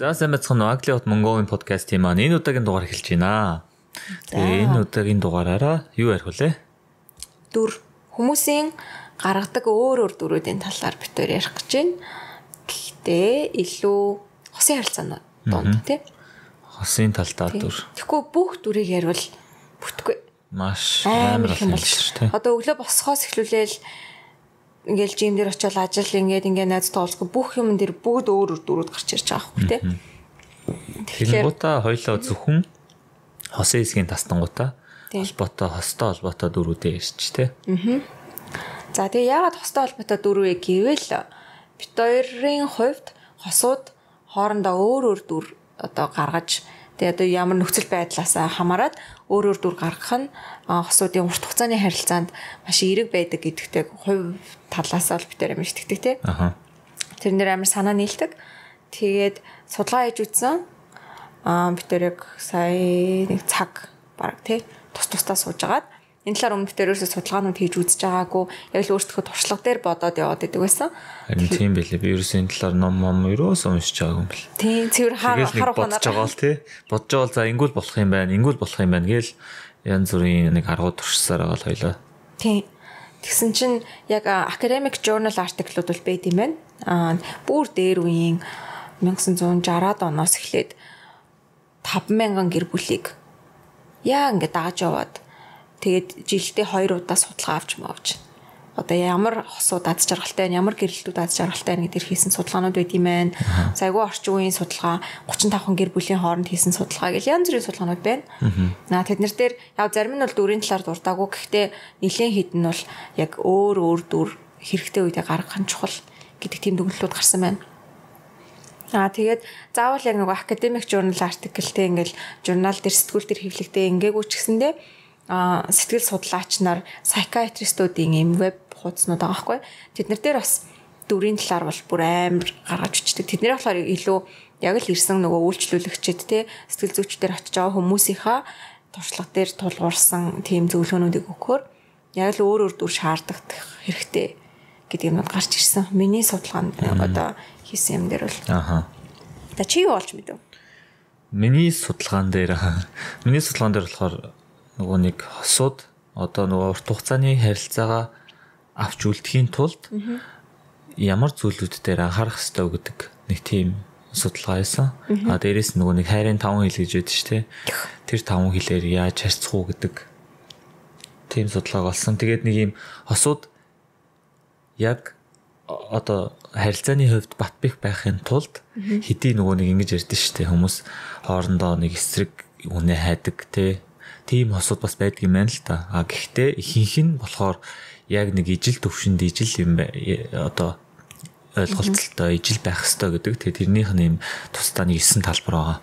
За сайн байцгаана уу. Аглиот Монголын подкастын маань энэ удаагийн дугаар эхэлж байна. Тэгээ энэ удаагийн дугаараараа юу ярих вэ? Дүр хүмүүсийн гаргадаг өөр дүрүүдийн талаар бид хоёр ярих гэж байна. Гэхдээ илүү хосын харилцаанууд донд тий. Хосын талдаа дүр. Тэгэхгүй бүх дүрийг ярил бүтгүй. Маш амар юм болж тий. Одоо өглөө босхоос эхлүүлээл ингээл жим дээр очиод ажил ингээд найз тоолцох бүх юм дээр бүгд өөр дүрүүд гарч ирж байгаа байхгүй тий. Тэгэхээр гутаа хоёлоо зөвхөн хосын хэсгийн тастангуудаа холбоотой хостой холбоотой дүрүүдээ ирч тий. За тэгээ яагаад хостой холбоотой дүрвэ гэвэл бид хоёрын хувьд хосууд хоорондоо өөр дүр одоо гаргаж тэгээ одоо ямар нөхцөл байдлаас хамаарат өөр дүр гаргах нь хосуудын урт хугацааны харилцаанд маш эерэг байдаг гэдэгтэй хувь талаас л бид амар итгэдэг тий. Тэрнэр амар санаа нийлдэг. Тэгээд судалгаа хийж үзсэн. Бид тэрийг сая нэг цаг баг тий тусдаа сууж агаад энэ талаар өмнө бид ерөөсөө судалгаанууд хийж үзэж байгаагүй яг л өөрсдөө туршлага дээр бодоод яваад идэг байсан. Харин тийм байлээ. Би ерөөсөө энэ талаар ном ерөөсөө уншиж байгаагүй юм бэл. Тийм цэвэр харах бодож байгаа л тий. Бодож байгаа л за ингүүл болох юм байна. Гээл янз бүрийн нэг аргууд туршсаар байгаа л хоёлаа. Тийм. Тэгсэн чинь яг academic journal article-ууд бол байд юм байна. Бүр дээр үеийн 1960-аад оноос эхлээд 5,000 гэр бүлийг яа ингээд дааж яваад тэгээд жилдээ 2 удаа судалгаа авч. Одоо ямар хосууд аз жаргалтай байна, ямар гэрэлтүүд аз жаргалтай байна гэдгээр хийсэн судалгаанууд байд юм байна. Сайгүй орчин үеийн судалгаа, 35 гэр бүлийн хооронд хийсэн судалгаа гэл янз бүрийн судалгаанууд байна. Тэднэр дээр яг зарим нь бол дүрийн талаар дуртаагүй. Гэхдээ нэлийн хідэн бол яг өөр дүр хэрэгтэй үедээ гаргах нь чухал гэдэг тийм дүгнэлтүүд гарсан байна. Тэгээд заавал яг нэг academic journal article-тэй ингээл журнал дээр сэтгүүл дээр хэвлэгдээ ингээгүй ч гэсэндээ сэтгэл судлаач нар psychiatrist-уудын ийм веб хуудаснууд байгаа байхгүй. Тэднэр дээр бас дүрийн талаар бол бүр амар гаргаж өчтдөг. Тэднэр болохоор илүү яг л ирсэн нөгөө үйлчлүүлэгчид те сэтгэл зүйчдэр очиж байгаа хүмүүсийнхаа туршлага дээр тулгуурсан тийм зөвлөгөөнүүдийг өгөхөөр яг л өөр дүр шаарддаг хэрэгтэй гэдэг юмуд гарч ирсэн. Миний судалгаанд одоо хийсэн юм дээр бол. Та чи юу олж мэдв? Миний судалгаан дээр болохоор нөгөө нэг хосууд одоо нөгөө урт хугацааны харилцаагаа авч үлдэхийн тулд ямар зүйлүүд дээр анхаарах ёстой гэдэг нэг тийм судалгаа хийсэн. Дээрээс нөгөө нэг хайрын 5 хил гэж байдаг шүү дээ. Тэр 5 хилээр яаж харьцах уу гэдэг тийм судалгаа болсон. Тэгээд нэг юм хосууд яг одоо харилцааны хувьд бат бэх байхын тулд хэдий нөгөө нэг ингэж ярьдэн шүү дээ. Хүмүүс хоорондоо нэг эсрэг үнэ хайдаг тийм хосууд бас байдаг юм байна л та. Гэхдээ ихэнх нь болохоор яг нэг ижил төвшөнд ижил юм одоо ойлголттой ижил байх ёстой гэдэг. Тэгээ тэрнийх нь юм тусдаа нэг 9 талбар байгаа.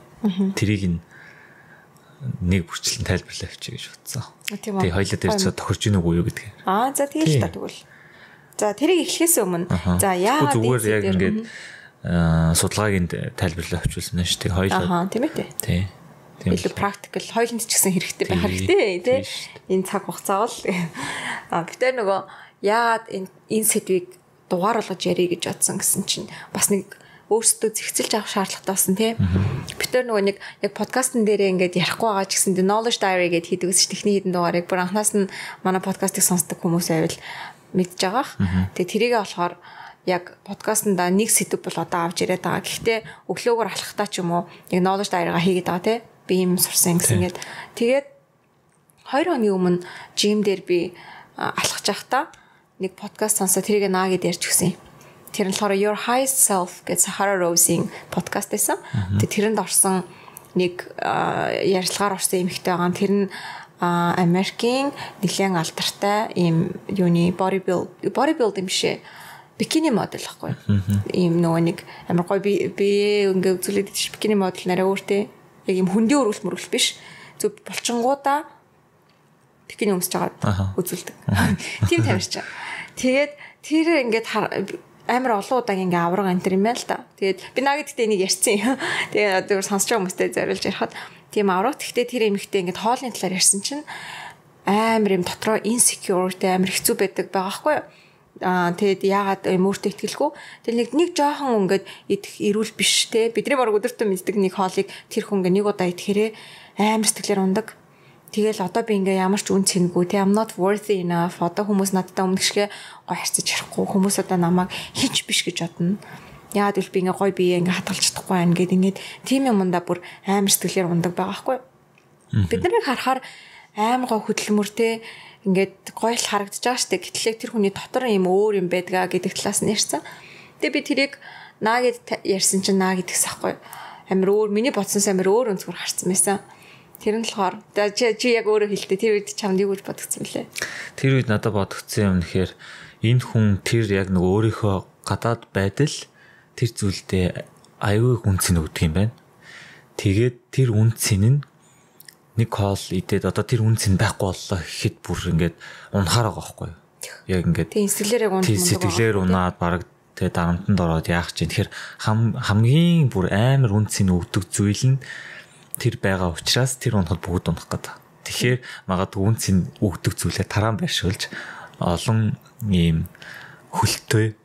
Тэрийг нэг бүрчлэн тайлбарлаа авчи гэж бодсон. Тэгээ хоёлаа дээр ч тохирж ийн үгүй юу гэдгийг. За тэгэл та тэгвэл. За тэрийг эхлэхээс өмнө за яагаад зүгээр яг ингээд судалгааг тайлбарлаа авчулсан нь шүү дээ. Хоёлаа. Тийм ээ. Тий. Илүү практикл хоёуланд ч гэсэн хэрэгтэй байх хэрэгтэй тий. Энэ цаг хугацаа бол бид тэр нөгөө яагаад энэ сэдвийг дугаар болгож ярих гэж бодсон гэсэн чинь бас нэг өөрсдөө зэгцэлж авах шаардлагатай болсон тий. Бид тэр нөгөө нэг яг подкастн дээрээ ингээд ярихгүй байгаа ч гэсэн knowledge diary гэдээ хийдэг ус техник хэдэн дугаарыг бүр анханаас нь манай подкастыг сонсдог хүмүүс байвал мэдж байгаа. Тэгээ тэрийгээ болохоор яг подкастнда нэг сэдв бол одоо авч ирээд байгаа. Гэхдээ өглөөгөр алхахтаа ч юм уу яг knowledge diary-га хийгээд байгаа тий. Би юм сурсан гэсэн гээд тэгээд 2 хоногийн өмнө жим дээр би алхаж байхдаа нэг подкаст сонсоо тэрийг наа гэдээ ярьж өгсөн. Тэр нь болохоор Your High Self гэж Sahara Rose-ийн подкаст байсан. Тэгээд тэрэнд орсон нэг ярилцлагаар орсон эмэгтэй байгаа. Тэр нь Америкийн нэлээд алдартай ийм юуны bodybuild юм шээ. Бикини модель байхгүй. Ийм нөгөө нэг амар гоё би ингээ үзүүлээд тийш бикини модель нараа өөртөө яг юм хөндийн өргөл биш. Зөв булчингуудаа бикини өмсөж байгаа үзүүлдэг. Тийм тамирч. Тэгээд тэр ингээд амар олон удаагийн ингээ авраг антер юм байна л та. Тэгээд би наа гэдэгтээ энийг ярьсан. Тэгээд одоо сонсож байгаа хүмүүстэй зориулж ярихад тийм авраг. Тэгтээ тэр эмэгтэй ингээд хоолны талаар ярьсан чинь амар юм дотроо insecure амар хэцүү байдаг байгаа байхгүй юу? Тэгэд яагаад мөртөө итгэлгүй. Тэгэл нэг жоохон ингээд идэх эрүүл биш те. Бидний баг өдөртөө мэддэг нэг хоолыг тэр хүн ингээд нэг удаа идэхээрээ амар сэтгэлээр ундаг. Тэгэл одоо би ингээ ямар ч үн цэнгүй те I'm not worthy enough. Одоо хүмүүс надтай өмнөшгээ гой харьцаж ярихгүй. Хүмүүс одоо намайг хинч биш гэж бодно. Яагаад гэвэл би ингээ гой бие ингээ хадгалж чадахгүй байна гэд ингээд тийм юмдаа бүр амар сэтгэлээр ундаг байгаа байхгүй. Бид нарыг харахаар амар гой хөдөлмөртэй ингээд гоё л харагдаж байгаа штэ. Гэтэл тэр хүний дотор юм өөр юм байдгаа гэдэг талаас нь ярьсан. Тэгээ би тэрийг наа гэд ярьсан чинь наа гэдэгс ахгүй. Амир өөр миний бодсоос амир өөр өнцгөр харсан байсан. Тэр нь болохоор чи яг өөрөө хэлтэ. Тэр үед чамд юу гэж бодгцсан бэлээ? Тэр үед надад бодгцсан юм нэхэр энэ хүн тэр яг нөгөө өөрийнхөө гадаад байдал тэр зүйлдээ аюул үнцэн өгдөг юм байна. Тэгээд тэр үнцэн нь нэг хоол идээд одоо тэр үнцэн байхгүй боллоо гэхэд бүр ингээд унахаар байгаа байхгүй юу? Яг ингээд тийм сэтгэлээр унаад баг тэгээ дарамтанд ороод яах чинь тэгэхээр хамгийн бүр амар үнцэн өгдөг зүйл нь тэр байгаа учраас тэр унахад бүгд унах гэдэг. Тэгэхээр магадгүй үнцэн өгдөг зүйлээ таран байршуулж олон ийм хөлтөө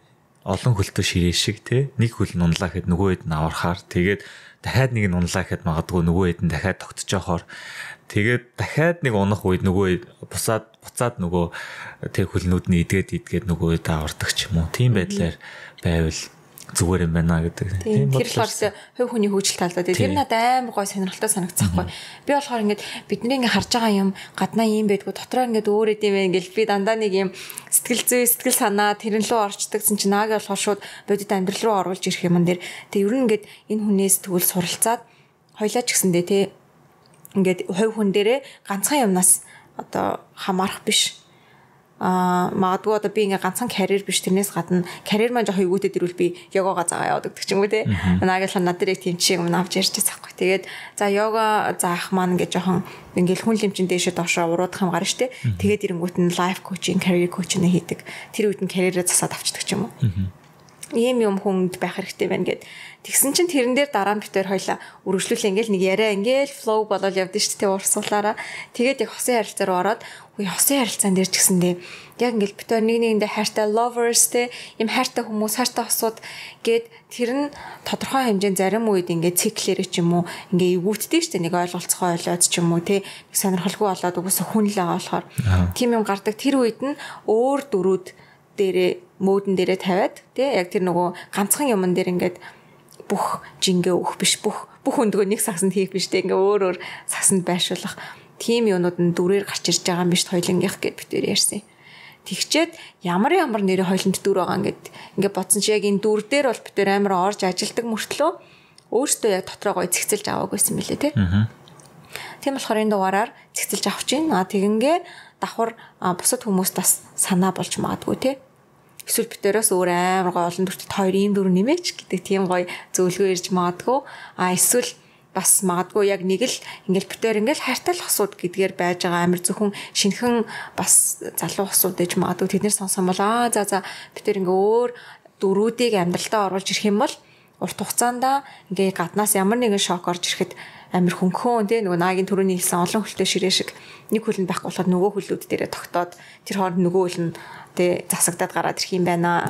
ширээ шиг те нэг хөл нь унлаа гэхэд нөгөө хэд нь авархаар тэгээд дахиад нэг нь унлаа гэхэд магадгүй нөгөө хэд нь дахиад тогтчихоор тэгээд дахиад нэг унах үед нөгөө буцаад нөгөө тэр хөлнүүд нь идгээд нөгөө хэд авардаг ч юм уу. Тийм байдлаар байвал зүгээр юм байна гэдэг. Тийм тэр болохоор хувь хүний хөгжил талдаа тэр надад амар гой сонирхолтой санагдчихгүй. Би болохоор ингээд бидний ингээд харж байгаа юм гаднаа юм байдгүй дотроо ингээд өөр эд юм байна гэл би дандаа нэг юм сэтгэл санаа тэрэн лөө орчдогсэн чинь наагаа болохоор шууд бодит амьдрал руу оруулж ирэх юм дээр тэг ер нь ингээд энэ хүнээс тэгвэл суралцаад хоёлаа ч гэсэндээ те ингээд хувь хүн дээрээ ганцхан юмнаас одоо хамаарах биш. Магадгүй одоо би ингээ ганцхан карьер биш тэрнээс гадна карьер маань жоох эгүүтэй дэрвэл би йогага заагаа яваад гэдэг ч юм уу те. Наагаал надад яг тийм чиг юм авч ярьж байгаа байхгүй. Тэгээд за йога заах маань ингээ жоохон ингээл хүн лимчин дээшээ доошоо уруудах юм гарна штэ. Тэгээд ирэнгүүт нь лайф коучинг, карьер коучинг хийдэг. Тэр үед нь карьерээ засаад авчдаг ч юм уу. Ийм юм хүнд байх хэрэгтэй байна гэд. Тэгсэн чинь тэрэн дээр дараа нь битээр хоёлаа үргэлжлүүлээ ингээл нэг яриа ингээл флоу болол явдсан шүү дээ урсгалаараа. Тэгээд яг хосын харилцаа руу ороод хосын харилцаан дээр ч гэсэндээ яг ингээл битээр нэгэндээ хайртай lovers те юм хайртай хүмүүс хайртай хосууд гэд тэр нь тодорхой хэмжээнд зарим үед ингээд циклэрэ ч юм уу ингээ эвгүүтдэг шүү дээ нэг ойлголцохоо ойлоод ч юм уу те нэг сонирхолгүй болоод угсаа хүн л байгаа болохоор тийм юм гардаг. Тэр үед нь өөр дөрүүд дээрээ модон дээрээ тавиад тий яг тэр нөгөө ганцхан юмн дээр ингээд бүх жингээ өгөх биш бүх өндгөө нэг сагсанд хийх биш тий ингээ өөр сагсанд байршуулах тийм юмнууд нь дүрээр гарч ирж байгаа юм биш хоёлынгийнх гэд битээр ярьсан. Тэгчээд ямар нэрээ хоёлонд дүр байгаа ингээд бодсон чи яг энэ дүр дээр бол битээр амар орж ажилдаг мөртлөө өөртөө яг дотроо гой цэгцэлж аваагүйсэн мөлий тий. Тийм болохоор энэ дугаараар цэгцэлж авах чинь тэгингээ давхар бусад хүмүүст бас санаа болж магадгүй тий. Эсвэл битээрээс өөр амар гой олон төртөд хоёр ийм дүр нэмээч гэдэг тийм гой зөвлөгөө ирж магадгүй. Эсвэл бас магадгүй яг нэг л ингээл битээр ингээл хайртай л хосууд гэдгээр байж байгаа амар зөвхөн шинхэн бас залуу хосууд ээж магадгүй тэднэр сонсон бол за битээр ингээ өөр дөрүүдийг амьдралтаа оруулж ирэх юм бол урт хугацаанд ингээ гаднаас ямар нэгэн шок орж ирэхэд амир хөнгөн тий нөгөө наагийн төрөний хэлсэн олон хөлтэй ширээ шиг нэг хөл нь байхгүй болохоор нөгөө хөлүүд дээрээ тогтоод тэр хооронд нөгөө хөл нь тий засагдаад гараад ирэх юм байна.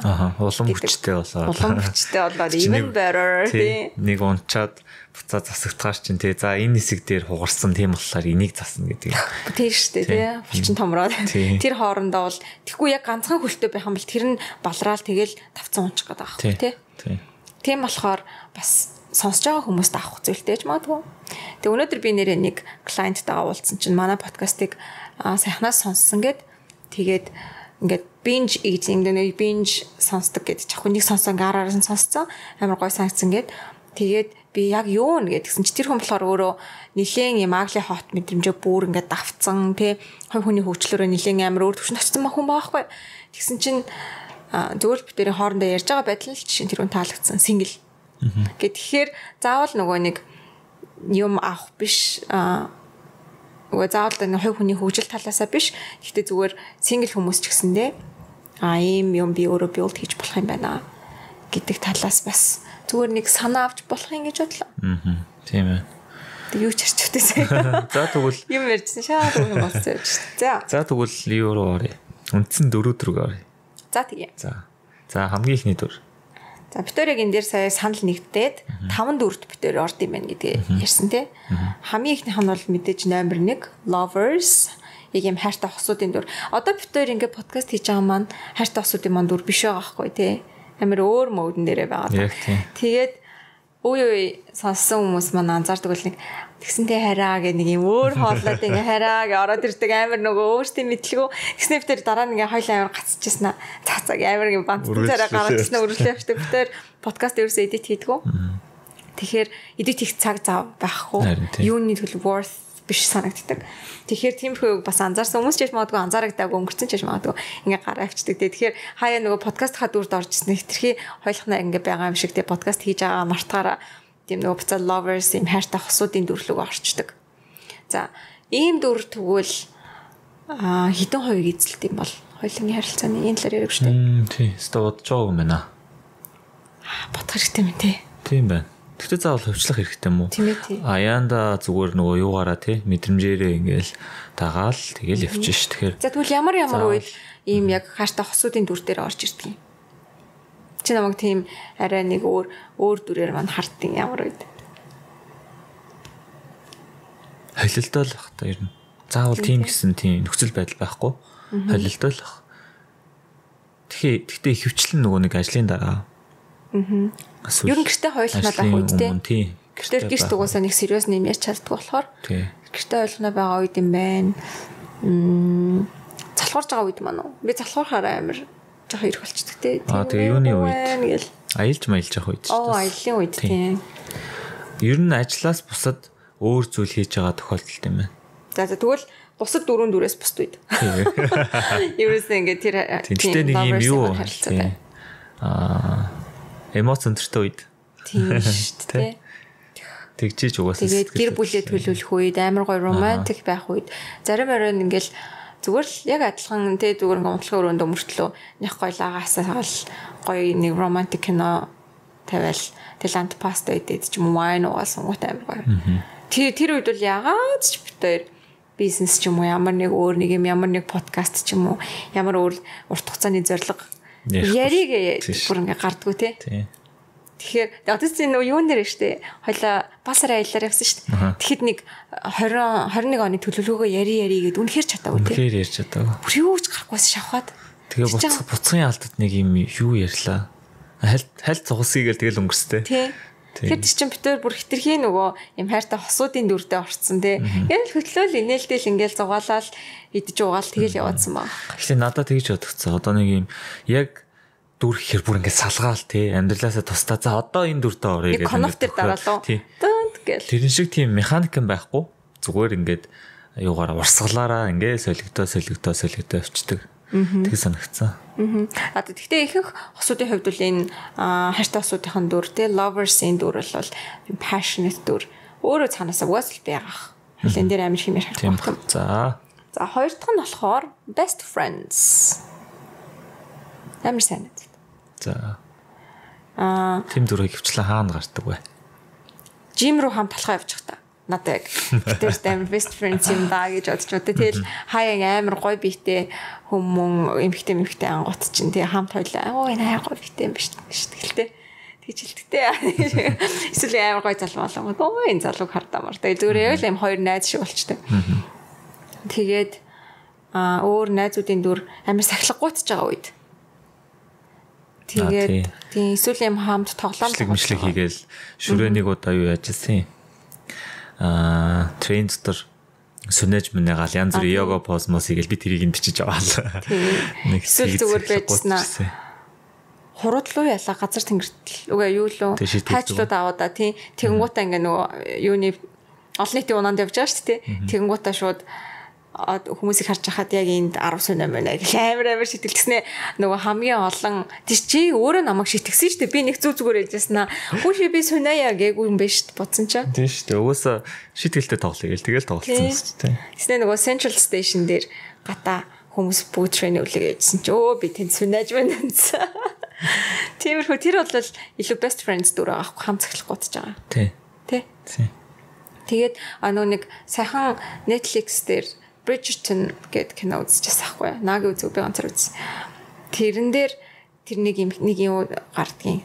Улам хүчтэй болоод even better тий нэг унчаад буцаа засагдгаач чинь тий за энэ хэсэг дээр хугарсан тийм болохоор энийг засна гэдэг. Тийм шүү дээ тий булчин томроод тэр хоорондоо бол тэггүй яг ганцхан хөлтэй байх юм бол тэр нь балраал тэгэл тавцсан унчих гээд байгаа хэрэг тий. Тийм болохоор бас сонсож байгаа хүмүүст авах зүйлтэй ч магадгүй. Тэгээ өнөөдөр би нэрээ нэг клиенттайгаа уулзсан чинь манай подкастыг сайхнаас сонссон тэгээд ингээд binge eating нэг binge сонсдог гэдэг чахуу нэг сонсон гараараа сонссон амар гой санагдсан тэгээд би яг юу нэгсэн чи тэр хүн болохоор өөрөө нилээн юм агли хот мэдрэмжээ бүр ингээд давцсан тий хувь хүний хөгжлөөрөө нилээн амар өөр төвшин очсон хүн байгаа байхгүй. Тэгсэн чинь зөвхөн битэрийн хоорондоо ярьж байгаа байдал л чинь тэр хүн таалагдсан single. Тэгэхээр заавал нөгөө нэг юм авах биш нөгөө заавал нэг хувь хүний хөгжил талаасаа биш. Гэхдээ зүгээр single хүмүүс ч гэсэндээ ийм юм би өөрөө build хийж болох юм байна гэдэг талаас бас зүгээр нэг санаа авч болох юм гэж бодлоо. Тийм ээ. Тэг юу ч ярьчихвээ. За тэгвэл юм ярьжсэн шаа юм болсон. За тэгвэл юу руу оръё? Үндсэн 4 дөрөг оръё. За тэгээ. За хамгийн ихний дүр. За битүүрийг энэ дээр сая санал нэгдээд 5 дүрт битүүр орд юм байна гэдгийг ярьсан тий. Хамгийн ихнийх нь бол мэдээж номер 1 lovers ийм хайртай хосуудын дүр. Одоо битүүр ингээд подкаст хийж байгаа маань хайртай хосуудын маань дүр биш байгаа байхгүй тий. Амар өөр модон дээрээ байгаа. Тэгээд үй сонссон хүмүүс маань анзаардаг бол нэг тэгсэнтэй хараа гэх нэг юм өөр хоолойд ингээ хараа гэ ороод ирдэг амар нөгөө өөртөө мэдлгүй тэгснэ битэр дараа нь ингээ хоёлаа амар гацчихсан аа цаацаг амар ингээ бантсан цараа гаргажсэн өрөөлөө явдаг битэр подкаст ерөөсөө эдит хийдгүү тэгэхээр эдит хийх цаг зав байхгүй юуны төлөв worth биш санагддаг тэгэхээр тиймэрхүү бас анзаарсан хүмүүс ч яж магадгүй анзаарагдаагүй өнгөрцөн ч яж магадгүй ингээ гараа авчдаг тэгэхээр хаяа нөгөө подкаст ха дүрд орж ирсэн хэтэрхий хоёлохнаа ингээ байгаа юм шиг тэ подкаст хийж байгаа мартахаараа тийм нөгөө буцаа lovers юм хайртай хосуудын дүрлэг орчдөг. За, ийм дүр тэгвэл хэдэн хувийг эзэлт юм бол хоёулангийн харилцааны энэ талаар ярих шүү дээ. Тий, өстой бодож байгаа юм байна. Бодох хэрэгтэй юм тий. Тийм байна. Тэгтээ заавал хувьчлах хэрэгтэй юм уу? Тийм ээ тий. Аяанда зүгээр нөгөө юугаараа тий мэдрэмжээрээ ингээл дагаал тэгэл явчих ш. Тэгэхээр за тэгвэл ямар үед ийм яг хайртай хосуудын дүр дээр орж ирдэг юм. Чи намайг тийм арай нэг өөр дүрээр мань хардсан ямар үед. Холилдоо л бах та ер нь. Заавал тийм гэсэн тийм нөхцөл байдал байхгүй. Холилдоо л бах. Тэгтээ хөвчлэн нөгөө нэг ажлын дараа. Ер нь гэртээ хойлохноо байх үед тий. Гэртээ гэрт угаасаа нэг сериус нэм яж чаддаг болохоор. Гэртээ хойлохноо байгаа үед юм байна. Залхуурж байгаа үед маань уу. Би залхуурахаараа амар жоо ирэх болчдөг тий. Тэгээ юуны үед аялж маялж явах үед шүү дээ. Аяллаа үед тий. Ер нь ажлаас бусад өөр зүйл хийж байгаа тохиолдолд юм байна. За тэгвэл бусад 4-4-өөс бусд үед. Ерөөсөө ингээд тэр тийм нэг юм юу эмоц өндөртэй үед. Тийм шүү дээ. Тэгжиж угаасаа тэгээд гэр бүлээ төлөвлөх үед амар гоё романтик байх үед зарим оройн ингээл зүгээр л яг адилхан тэ зүгээр гомдлохын өрөөндөө мөртлөө нэг гоё лагаасаа гоё нэг романтик кино тавиал тэл антипаста идээд ч юм уу вайн уусан гот амар гоё. Тэр үед бол ягаад ч битээр бизнес ч юм уу ямар нэг өөр нэг юм ямар нэг подкаст ч юм уу ямар өөр урт хугацааны зорилго яриг бүр ингээ гардггүй тий. Тэгэхээр одоос энэ юу нэр штэ хойлоо басараа аялаар явсан штэ. Тэгэхэд нэг 21 оны төлөвлөгөөгөө яри гэд үнэхээр чадаагүй тий. Үнэхээр ярьж чадаагүй. Бүр юу ч гарахгүйс шавхаад. Тэгээ буцхын алдад нэг юм юу ярьлаа. Хальт цугсгийгээл тэгэл өнгөрстэй. Тий. Тэгэхээр чинь битээр бүр хитрхи нөгөө юм хайртай хосуудын дүрдээ орцсон тий. Ингээл хөтлөөл инээлтэл ингээл зугаалал идэж угаал тэгэл яваадсан баг. Тэгэхээр надад тэгж бодогцсон. Одоо нэг юм яг дүр ихэр бүр ингээд салгаал тий амьдралаасаа тусдаа за одоо энэ дүртээ орё гэдэг. Коннектор дараалуу. Дэнт гэл. Тэрэн шиг тийм механик юм байхгүй. Зүгээр ингээд юугаараа урсгалаараа ингээд солигдоо явчихдаг. Тэг санагцсан. Тэгтээ ихэнх хосуудын хувьд бол энэ хайртай хосуудын дүр тий lovers-ийн дүр бол passionate дүр. Өөрөө цаанаасаа угаас л байгаах. Хөлн дээр амар хэмээр харагдах. За хоёр дахь нь болохоор best friends. Амар сайн үү. За. Тэм дүрийг хөвчлэн хаана гардаг вэ? Жим руу хамт талхаа явчих та. Надад тэр амар best friends юм даа гэж бодож удаа. Тэгэл хаяа амар гоё биетэй хүмүүн эмхтэй ангууд чинь тий хамт хойлоо. Оо энэ амар гоё биетэй юм биш гэлтэй. Тэгж хэлдэгтэй. Эсвэл амар гоё залуу болонгод оо энэ залууг хардамар. Тэгэл зүгээр яг л юм хоёр найз шиг болчтой. Тэгээд өөр найзуудын дүр амар сахилгагуйч байгаа үед. Тэгээд тийм эсвэл юм хамт тоглоом мэдлэг хийгээл шүрээнийг удаа юу яажсэн юм. Трейн дотор сүнэж мэнэ гал янз бүр йога поз мос хийгээл би тэрийг нь бичиж аваалаа. Нэг эсвэл зүгээр байжснаа. Хуруудлуу ялаа газар тэнгэртэл үгүй юу лөө таачлууд аваа да тийм тэгэнгуутаа ингээ нөгөө юуны олон нийтийн унаанд явж байгаа шүү дээ. Тэгэнгуутаа шууд хүмүүсийг харж хахад яг энд 10 сүнэ мэнэ гэх амар шитгэлцснэ нөгөө хамгийн олон тийч чи өөрөө намайг шитгсэн шүү дээ би нэг зүгээр хэлжсэн аа хүүши би сүнэя гээгүй юм биш бодсон ч тийм шүү дээ угаасаа шитгэлтэй тоглоё гэл тэгэл тоглолцсон шүү дээ тэснэ нөгөө Central Station дээр гата хүмүүс бүгд трейн үлээ гэжсэн чи өө би тэнд сүнэж байна гэсэн тиймэрхүү тэр бол илүү best friends дүр аахгүй хамт цахилах гутж байгаа тий тэгээд нөгөө нэг сайхан Netflix дээр Bridgerton гэдэг кино үзчихсэн байхгүй. Наги үзег би ганцаар үзсэн. тэрэн дээр тэр нэг юм гардгийн.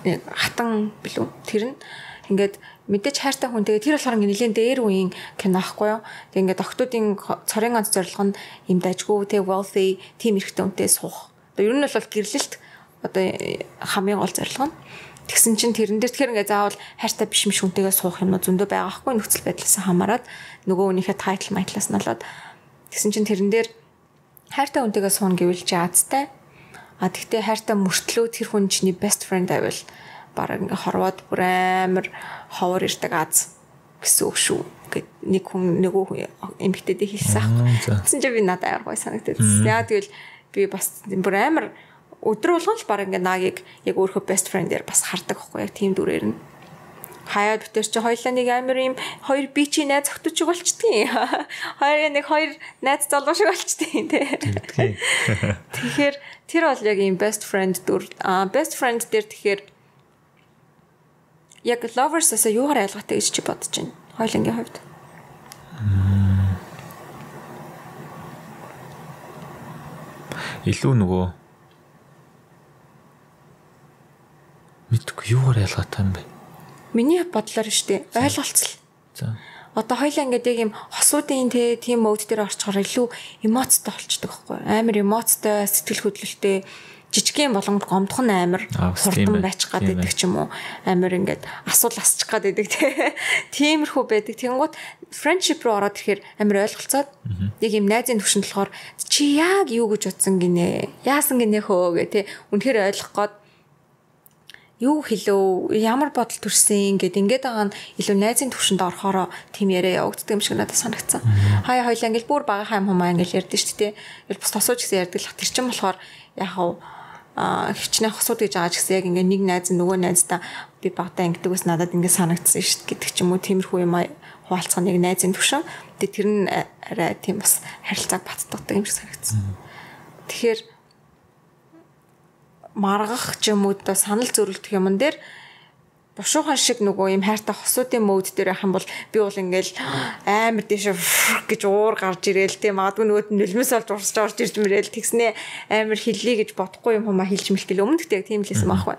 Хатан билүү. Тэр нь ингээд мэдээж хайртай хүн тэгээ тэр болохоор ингээд нэлээд дээр үеийн кино ахгүй юу. Тэгээ ингээд октоодын цорын ганц зорилго нь юм дажгүй тэгээ wealthy team эрхтэй үнтэй суух. Одоо ер нь бол гэрлэлт одоо хамгийн гол зорилго нь. Тэгсэн чинь тэрэн дээр тэгэхээр ингээд заавал хайртай биш юм шүнтэйгээ суух юм зөндөө байгаа хгүй нөхцөл байдлаас хамаарат нөгөө үнийхээ тайтл майтлаас нь болоод тэгсэн чинь тэрэн дээр хайртай хүнтэйгээ суuna гэвэл жаацтай. А тэгтээ хайртай мөртлөө тэр хүн чиний best friend байвал бараг ингээ хорвоод бүр амар ховор ирдэг аз гэсэн үг шүү. Гэт нэг хүн нөгөө эмэгтэйдээ хэлсэн аахгүй. Тэгсэн чинь би надад амар гой санагдав. Яа тэгвэл би бас бүр амар өдөр болгон л бараг ингээ нагийг яг өөрөө best friend-ээр бас хардаг аахгүй яг тийм дүрээр нь. Хаяад бүтээр чи хоёлаа нэг амар юм хоёр би чи найз зохтчих болчдгийг. Хоёр найз залуу шиг болчдгийг тий. Тэгэхээр тэр бол яг юм best friend дүр. Best friend дээр тэгэхээр яг lovers-аас юугаар ялгаатай гэж чи бодож байна? Хоёлынгийн хувьд. Илүү нөгөө мэдгүй юугаар ялгаатай юм бэ? Миний бодлоор штэ ойлголцол. За. Одоо хоёлаа ингээд яг юм хосуудын тийм мод дээр орчхоор илүү эмоцтой болчдөг байхгүй амар эмоцтой сэтгэл хөдлөлттэй жижигхэн болгонд гомдхон амар хурдан байчих гад байдаг ч юм уу амар ингээд асуул асчих гад байдаг тиймэрхүү байдаг тэгэнгუთ friendship руу ороод ирэхээр амар ойлголцоод яг юм найзын төвшөнд болохоор чи яг юу гэж утсан гинэ яасан гинэ хөө гэ тэ үнэхээр ойлгох гээд юу хэлөө ямар бодол төрсөн ингээд байгаа нь илүү найзын төвшөнд орохороо тийм яриа явагддаг юм шиг надад санагдсан. Хаяа хоёлаа ингээд бүр бага хайм хумаа ингээд ярьдэн шүү дээ. Ингээл бус тосууч гэсэн ярьдаг л тэр чинь болохоор яг хвчнээ хосууд гэж байгаа ч гэсэн яг ингээд нэг найз нөгөө найздаа би багтаа ингээд ус надад ингээд санагдсан шүү дээ гэдэг ч юм уу тиймэрхүү юм хуваалцах нэг найзын төвшин. Тэгээ тэр нь арай тийм бас харилцааг баттдаг юм шиг санагдсан. Тэгэхээр маргах ч юм уу да санал зөрүүлдэх юмн дээр бушуухан шиг нөгөө юм хайртай хосуудын мод дээр явах юм бол би бол ингээл амар дэше гэж уур гарч ирээл тийм магадгүй нөгөөд нь нөлмөөс олж урсж орж ирж мөрөөл тэгснээ амар хиллээ гэж бодохгүй юм хумаа хэлж мэлтэл өмнө тэгтээ тийм л байсан байхгүй.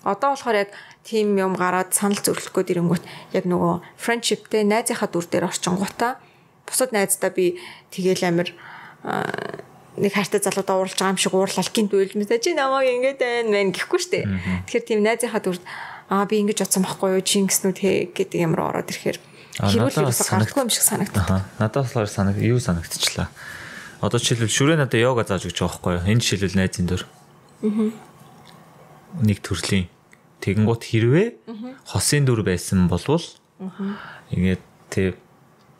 Одоо болохоор яг тийм юм гараад санал зөрүүлэх гээд ирэнгүүт яг нөгөө friendshipтэй найзынхаа дүр дээр орчингуудаа бусад найздаа би тэгээл амар нэг хайртай залуудаа уурлж байгаа юм шиг уурлал гинт үйлмэсэ чи намайг ингэж байна гэхгүй штэ. Тэгэхээр тийм найзынхаа дүр би ингэж бодсон байхгүй юу чи ингэснүү гэдэг ямар ороод ирэхээр хэрүүл юусаа гардаггүй юм шиг санагдав. Надад болохоор юу санагдчихлаа. Одоо жишээлбэл шүрээ надад йога зааж өгч байгаа байхгүй юу. Энэ жишээлбэл найзын дүр. Нэг төрлийн тэгэнгუთ хэрвээ хосын дүр байсан болвол ингээд тэг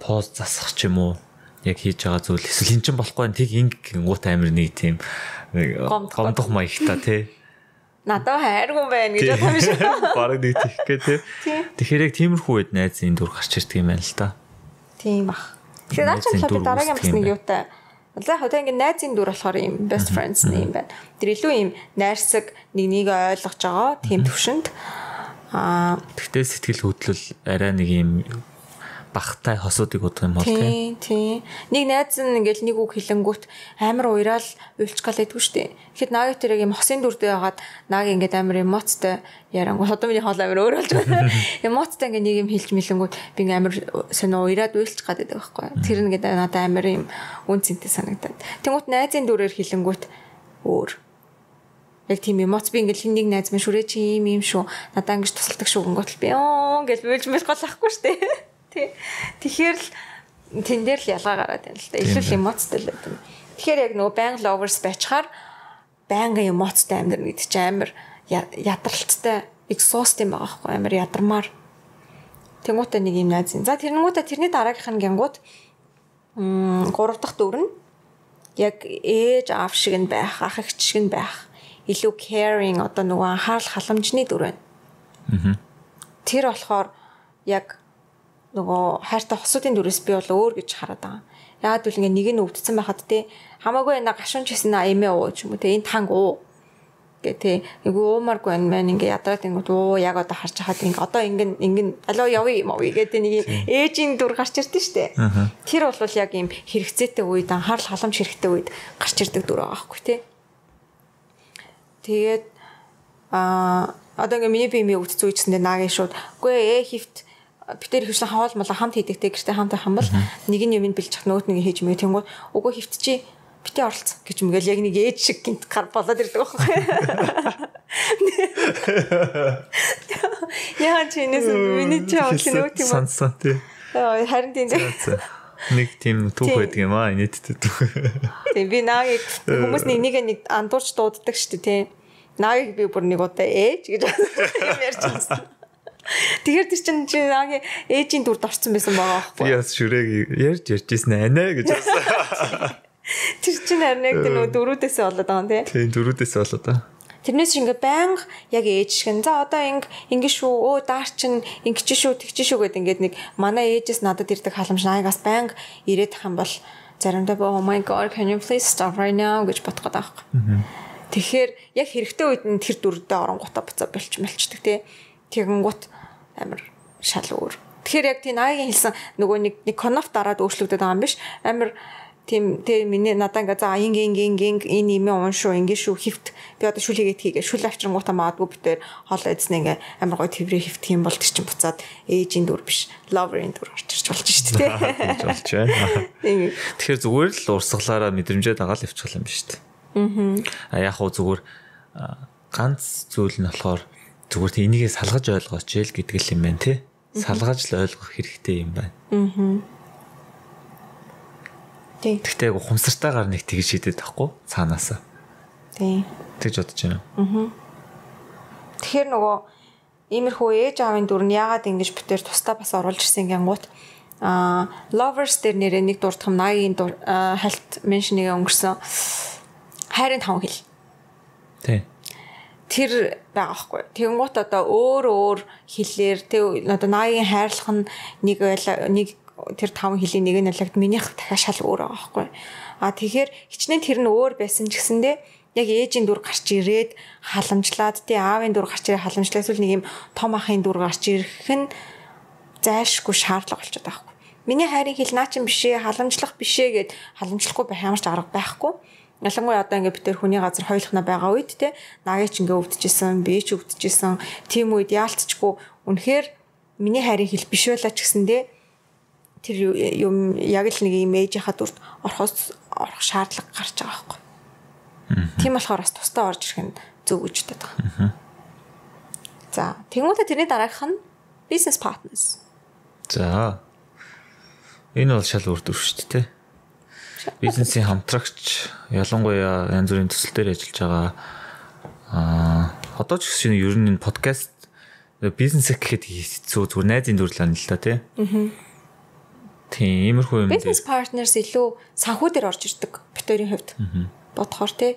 поз засах ч юм уу яг хийж байгаа зүйл эсвэл эн чинь болохгүй нь тийг гингут амир нэг тийм гомдох маягтай тий. Надад хайргүй байна гэж бодсон юм шиг. Бараг нэг тийхгээ тий. Тэгэхээр яг тиймэрхүү үед найзын дүр гарч ирдэг юм байна л да. Тийм бах. Тэгэхээр наачаал би дараагийн бас нэг юутай. За хөөе ингэ найзын дүр болохоор юм best friends юм байна. Тэр илүү юм найрсаг нэг ойлгож байгаа тийм төвшөнд. Тэгтээ сэтгэл хөдлөл арай нэг юм багтай хосуудыг бодох юм бол тийм. Нэг найз нь ингээл нэг үг хэлэнгүүт амар уйраал уйлч гал байдгүй штэ. Тэгэхэд нааг тэр яг юм хосын дүрдээ хагаад нааг ингээд амар эмоцтой ярангуут одоо миний хоол амар өөр болж байна. Эмоцтой ингээд нэг юм хэлж мэлэнгүүт би ингээд амар сонио уйраад уйлч гад байдаг байхгүй. Тэр ингээд надад амар юм үн цэнтэй санагдаад. Тэнгүүт найзын дүрээр хэлэнгүүт өөр. Яг тийм эмоц би ингээл нэг найз минь шүрээ чи юм шүү. Надаа ингэж тусалдаг шүү гингүүт би гэж уйлж мэл голахгүй штэ. Тэгэхээр л тэн дээр л ялгаа гараад байна л да. Илүү эмоцтой л байдаг. Тэгэхээр яг нөгөө байнга lovers байчаар байнга эмоцтой амьдрал гэдэг чинь амар ядралцтай exhaust юм байгаа байхгүй амар ядармаар. Тэнгуүтэ нэг юм найз. За тэрнгүүтэ тэрний дараагийнх нь гингууд 3 дахь дүр нь яг ээж аав шиг нь байх, ах эгч шиг нь байх. Илүү caring одоо нөгөө анхаарал халамжны дүр байна. Тэр болохоор яг нөгөө хайртай хосуудын дүрээс би бол өөр гэж хараад байгаа. Яагаад гэвэл ингээ нэг нь өвдсөн байхад те хамаагүй энэ гашуунч хийсэн эмээ уу ч юм уу те энэ танг уу Гэ эйгүү уумаргүй байна ингээ ядраад ингэв яг одоо харж хахад ингээ одоо ингээ алуу явъя юм уу гэдэг нэг ээжийн дүр гарч ирдэ штэ. Тэр бол яг юм хэрэгцээтэй үед анхаарал халамж хэрэгтэй үед гарч ирдэг дүр байгаа байхгүй тий. Тэгээд одоо ингээ миний бими өвдсөн үечсэндээ наагийн шууд үгүй хифт битэр хөвсөн хаал мала хамт хийдэгтэй гэртээ хамт хам бол нэг нь юм бэлж чах нөгөөт нэг хийж мэй тэнгууд үгүй хифт чи битээ оролцсон гэж мэгэл яг нэг ээж шиг гинт гар болоод ирдэг байхгүй. Яа чи энэс миний чаа нөгөө тийм сонсон тий. Харин тийм нэг тийм түүх байдаг юм аа нийтдээ түүх. Тийм би наагийг хүмүүс нэг андуурч дууддаг шүү дээ тий. Наагийг би бүр нэг удаа ээж гэж ярьж байсан. Тэгэхээр тэр чинь наагийн ээжийн дүрд орсон байсан байгаа байхгүй. Би бас шүрэг ярьж ирсэн анаа гэж хэлсэн. Тэр чинь харин яг нөгөө дөрүүдээсээ болоод байгаа юм тий. Тийм дөрүүдээсээ болоод байгаа. Тэрнээс ингээ байнга яг ээж шиг за одоо ингэ шүү даар чин ингэж шүү тэгч шүү гэд ингээд нэг манай ээжээс надад ирдэг халамж наагаас байнга ирээд тах юм бол заримдаа oh my god can you please stop right now гэж бодох гэдэг байхгүй. Тэгэхээр яг хэрэгтэй үед нь тэр дүрдээ оронгуудаа буцаа болчмалчдаг тий. Тэгэнгუთ амар шал өөр. Тэгэхээр яг тий наагийн хэлсэн нөгөө нэг коноф дараад өөрчлөгдөд байгаа юм биш амар тийм миний надаа ингээ за энэ юм уншуу ингээ шүү хифт би одоо шүлээгээд хийгээ шүл авчрангуудаа маадгүй битээр хоол эзэн ингээ амар гоё тврээ хифт юм бол тэр чинь буцаад ээжийн дүр биш ловерийн дүр орж ирж болж шүү дээ. Болж байна. Тэгэхээр зүгээр л урсгалаараа мэдрэмжээ дагаал явчих юм биш үү? Яг хуу зүгээр ганц зүйл нь болохоор зүгээр тийм энийгээ салгаж ойлгооч л гэдэг л юм байна тий. Салгаж л ойлгох хэрэгтэй юм байна. Тэгтээ ухамсартайгаар нэг тэгж шийдээд тахгүй цаанаасаа. Тийм. Тэгж бодож байна. Тэгэхээр нөгөө иймэрхүү ээж аавын дүр нь яагаад ингэж битээр тусдаа бас оруулж ирсэн гингууд lovers дээр нэрээ нэг дурдхам 80-ийн хальт меншнийг өнгөрсөн хайрын 5 хэл. Тийм. Тэр байгаа хгүй. Тэгэнгუთ одоо өөр хэлээр тэг одоо 80-ийн хайрлах нь нэг тэр 5 хэлийн нэг нь аллагд минийх дахиад шал өөр байгаа байхгүй. Тэгэхээр хичнээн тэр нь өөр байсан ч гэсэндээ яг ээжийн дүр гарч ирээд халамжлаад тий аавын дүр гарч ирээд халамжлаад эсвэл нэг юм том ахын дүр гарч ирэх нь зайлшгүй шаардлага болчиход байгаа байхгүй. Миний хайрын хэл наа чин бишээ халамжлах бишээ гэд халамжлахгүй байх ямар ч арга байхгүй. Ялангуяа одоо ингээ битэр хүний газар хойлохна байгаа үед тий наагийн ч ингээ өвдөжсэн би ч өвдөжсэн тийм үед яалтчгүй үнэхээр миний хайрын хэл биш байлаа ч гэсэндээ тэр юм яг л нэг юм ээжийнхаа дүрт орох шаардлага гарч байгаа байхгүй. Тийм болохоор бас тусдаа орж ирэх нь зөв гэж боддог. За, тэгмүүдээ тэрний дараагийнх нь business partners. За. Энэ бол шал өөр дүр шүү дээ. Бизнесийн хамтрагч ялангуяа янз бүрийн төсөл дээр ажиллаж байгаа. Одоо ч гэсэн ер нь энэ подкаст бизнес гэхэд хэцүү зүгээр найзын дүрлээ нь л та тий. Тийм, иймэрхүү юм. Business partners илүү санхүү дээр орж ирдэг битэрийн хувьд. Бодохоор тий.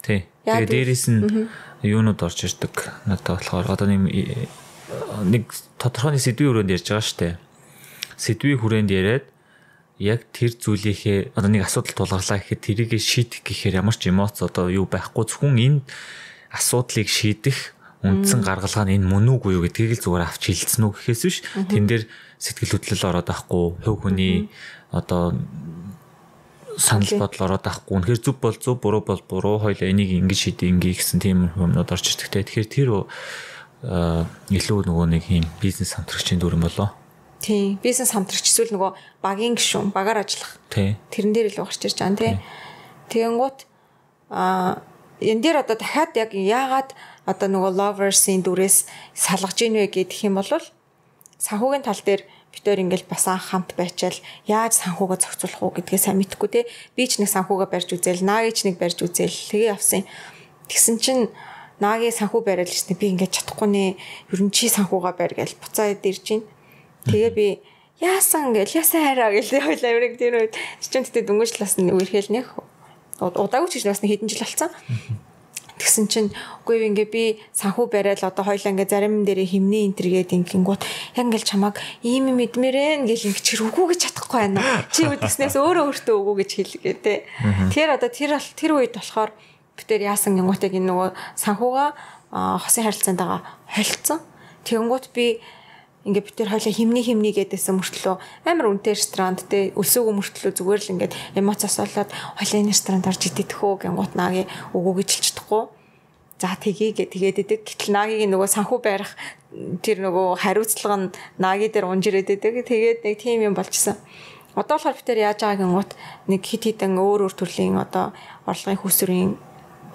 Тий. Тэгээ дээрээс нь юунууд орж ирдэг. Надад болохоор одоо нэг тодорхой нэг сэдвийн хүрээнд ярьж байгаа штэ. Сэдвийн хүрээнд яриад яг тэр зүйлийнхээ одоо нэг асуудал тулгарлаа гэхэд тэрийг шийдэх гэхээр ямар ч эмоц одоо юу байхгүй зөвхөн энэ асуудлыг шийдэх үндсэн гаргалгаа нь энэ мөн үгүй юу гэдгийг л зүгээр авч хэлсэн үү гэхээс биш тэн дээр сэтгэл хөдлөл ороод байхгүй хувь хүний одоо санал бодол ороод байхгүй үнэхээр зөв бол зөв буруу бол буруу хоёул энийг ингэж шийдээ ингээ гэсэн тийм юмнууд орж ирдэг те тэгэхээр тэр илүү нөгөө нэг юм бизнес хамтрагчийн дүр юм болоо. Тийм бизнес хамтрагч эсвэл нөгөө багийн гишүүн багаар ажиллах. Тэрэн дээр илүү гарч ирж байгаа тийм. Тэгэнгუთ энэ дээр одоо дахиад яг яагаад одоо нөгөө lovers-ийн дүрээс салгаж ийн вэ гэх юм бол санхүүгийн тал дээр битээр ингээл бас анх хамт байчаал яаж санхүүгээ зохицуулах уу гэдгээ сайн мэдэхгүй те би ч нэг санхүүгээ барьж үзээл наагийн ч нэг барьж үзээл тэгээ явсан. Тэгсэн чинь наагийн санхүү бариад л чинь би ингээд чадахгүй нэ ер нь чи санхүүгээ барь гэж буцаад ирж байна. Тэгээ би яасан гэл яасан хараа гэл хоёлаа өрөг тэр үед чинь тэгтээ дөнгөжлээс нь үерхэл нэх удаагүй ч бас хэдэн жил болсон. Тэгсэн чинь үгүй ингээ би санхүү бариад л одоо хоёлаа ингээ зарим дээрээ химний энтергээд ингэнгүүт яг ингээл чамаг ийм юм идмээрэн гэл ингээ чир үгүй гэж чадахгүй байна. Чи үдгснээс өөрөө өөртөө үгүй гэж хэлгээ те. Тэгэхээр одоо тэр үед болохоор битээр яасан гингуутыг энэ нөгөө санхугаа хосын харилцаантайгаа холилдсон. Тэгэнгუთ би ингээд битээр хойлоо химний гэдээсэн мөртлөө амар үнэтэй ресторанд те өлсөөгөө мөртлөө зүгээр л ингээд эмоцоос болоод хойлоо энэ ресторанд орж идэх үү гингуут наагийн өгөө гэж хэлж чадахгүй. За тэгээд идэг. Гэтэл наагийн нөгөө санхүү байрах тэр нөгөө хариуцлага нь наагийн дээр унж ирээд идэг. Тэгээд нэг тим юм болчихсон. Одоо болохоор битээр яаж байгаа гингуут нэг хит хитэн өөр төрлийн одоо орлогын хүсвэрийн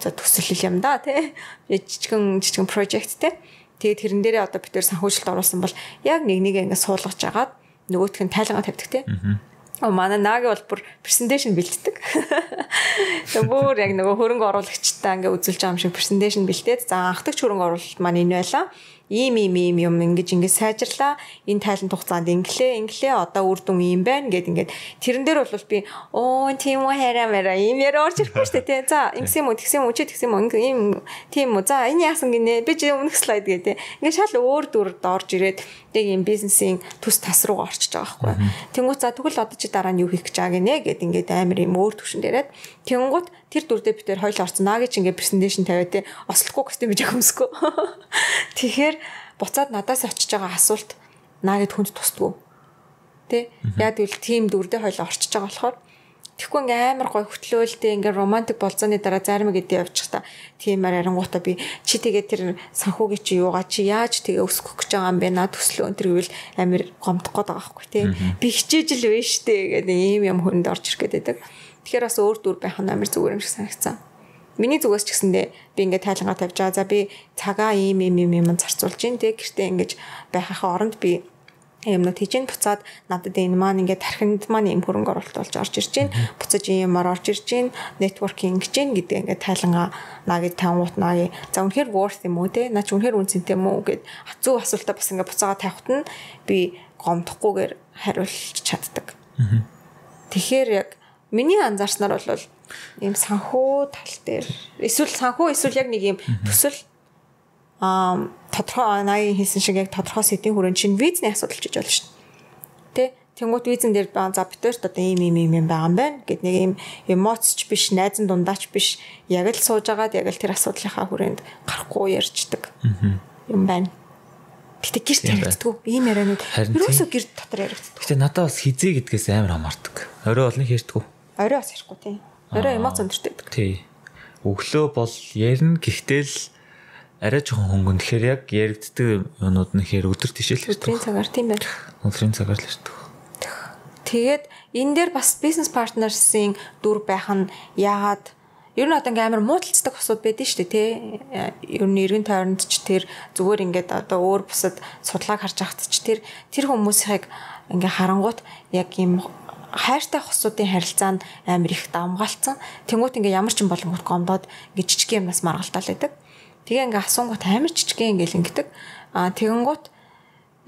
төсөл юм да тий. Жижигэн project тий. Тэгээд тэрэн дээрээ одоо битээр санхүүжилт оруулсан бол яг нэг ингээд суулгаж агаад нөгөөх нь тайлгаа тавьдаг тий. Манай нааги бол бүр презентацийн бэлддэг. Тэгээ бүр яг нөгөө хөрөнгө оруулагчтай ингээ үзүүлж байгаа юм шиг презентацийн бэлдээд за анхдагч хөрөнгө оруулалт маань энэ байлаа. Ийм юм ингэж сайжирлаа. Энэ тайланд хугацаанд инглээ одоо үр дүн ийм байна гэд ингээд тэрэн дээр бол би тийм үү хараа ийм яриа орж ирэхгүй шүү дээ тий. За ингэсэн юм уу ийм тийм үү. За энэ яасан гинэ би чи өмнөх слайд гэдэг. Ингээд шал өөр дүрд орж ирээд яг ийм бизнесийн төс тас руу орчиж байгаа байхгүй. Тэнгуут за тэгвэл одоо чи дараа нь юу хийх гэж байгаа гинэ гэд ингээд амар юм өөр төвшин дээрээд тэнгуут тэр дүрдээ битээр хоёул орсон наагийн чи ингээд презентацийн тавиад тий ослохгүй костюм биж хөмсгөө. Тэгэхээр буцаад надаас очиж байгаа асуулт наагэд хүнд тусдгүй. Тэ? Яг тэгвэл тим дүрдээ хоёул орчиж байгаа болохоор тэгэхгүй ингээ амар гой хөтлөөлтэй ингээ романтик болцооны дараа зарим гэдэг явчих та. Тиймээр арангуудаа би чи тэгээ тэр санхүүгийн чи юугаа чи яаж тэгээ өсгөх гэж байгаа юм бэ? Наад төслөө энэ гэвэл амар гомдох гээд байгаа байхгүй тий. Би хичээж л вэ штэ гэдэг ийм юм хүнд орж ирэх гээд байдаг. Тэгэхээр бас өөр дүр байх нь амар зүгээр юм шиг санагцсан. Миний зүгээс ч гэсэндээ би ингээд тайлангаа тавьж байгаа. За би цагаа ийм зарцуулж гин тэг гэртээ ингэж байхаа оронд би юмнууд хийж гин буцаад надад энэ маань ингээд тархинд маань ийм хөрөнгө оруулалт болж орж ирж гин буцаж иймаар орж ирж гин нэтворкинг гэж гин гэдэг ингээд тайлангаа наагийн тавгуут наагийн за үнэхээр worth юм уу те наа чи үнэхээр үнцэнтэй юм уу гэд хацуу асуултаа бас ингээд буцаага тавихт нь би гомдохгүйгээр хариулж чаддаг. Тэгэхээр яг миний анзаарснаар бол ийм санхүү тал дээр эсвэл яг нэг ийм төсөл тодорхой наагийн хийсэн шиг яг тодорхой сэдвийн хүрээнд чинь визний асуудал ч гэж болно шүү дээ. Тэ? Тэнгуут визэн дээр за битэрт одоо ийм байгаа юм байна гэд нэг ийм эмоцч биш, найзан дундаач биш яг л сууж агаад яг л тэр асуудлынхаа хүрээнд гарахгүй ярьждаг юм байна. Гэтэ гэрт яригддаг. Ийм ярианууд ерөөсөө гэрт дотор яригддаг. Гэтэ надад бас хизээ гэдгээс амар хамаардаг. Орой олон ярьдаггүй. Орой бас ярихгүй тийм. Орой эмоц өндөртэй байдаг. Тий. Өглөө бол ярина гэхдээ л арай жоохон хөнгөн. Тэгэхээр яг яригддаг юмнууд нь хэр өдөр тишэл ярьдаг. Өдрийн цагаар тийм байна. Өдрийн цагаар л ярьдаг. Тэгээд энэ дээр бас бизнес партнерсын дүр байх нь яагаад ер нь одоо ингээм амар муудалцдаг асуудал байдэн шүү дээ тий. Ер нь эргэн тойронд ч тэр зүгээр ингээд одоо өөр бусад судлааг харж ахт ч тэр хүмүүсийг ингээ харангуут яг ийм хайртай хосуудын харилцаа нь амар их давмгаалцсан. Тэнгуут ингээ ямар ч юм болонгот гомдоод ингээ жижиг юмнаас маргалтаал байдаг. Тэгээ ингээ асуунгууд амар жижиг ингээл ингэдэг. Тэгэнгуут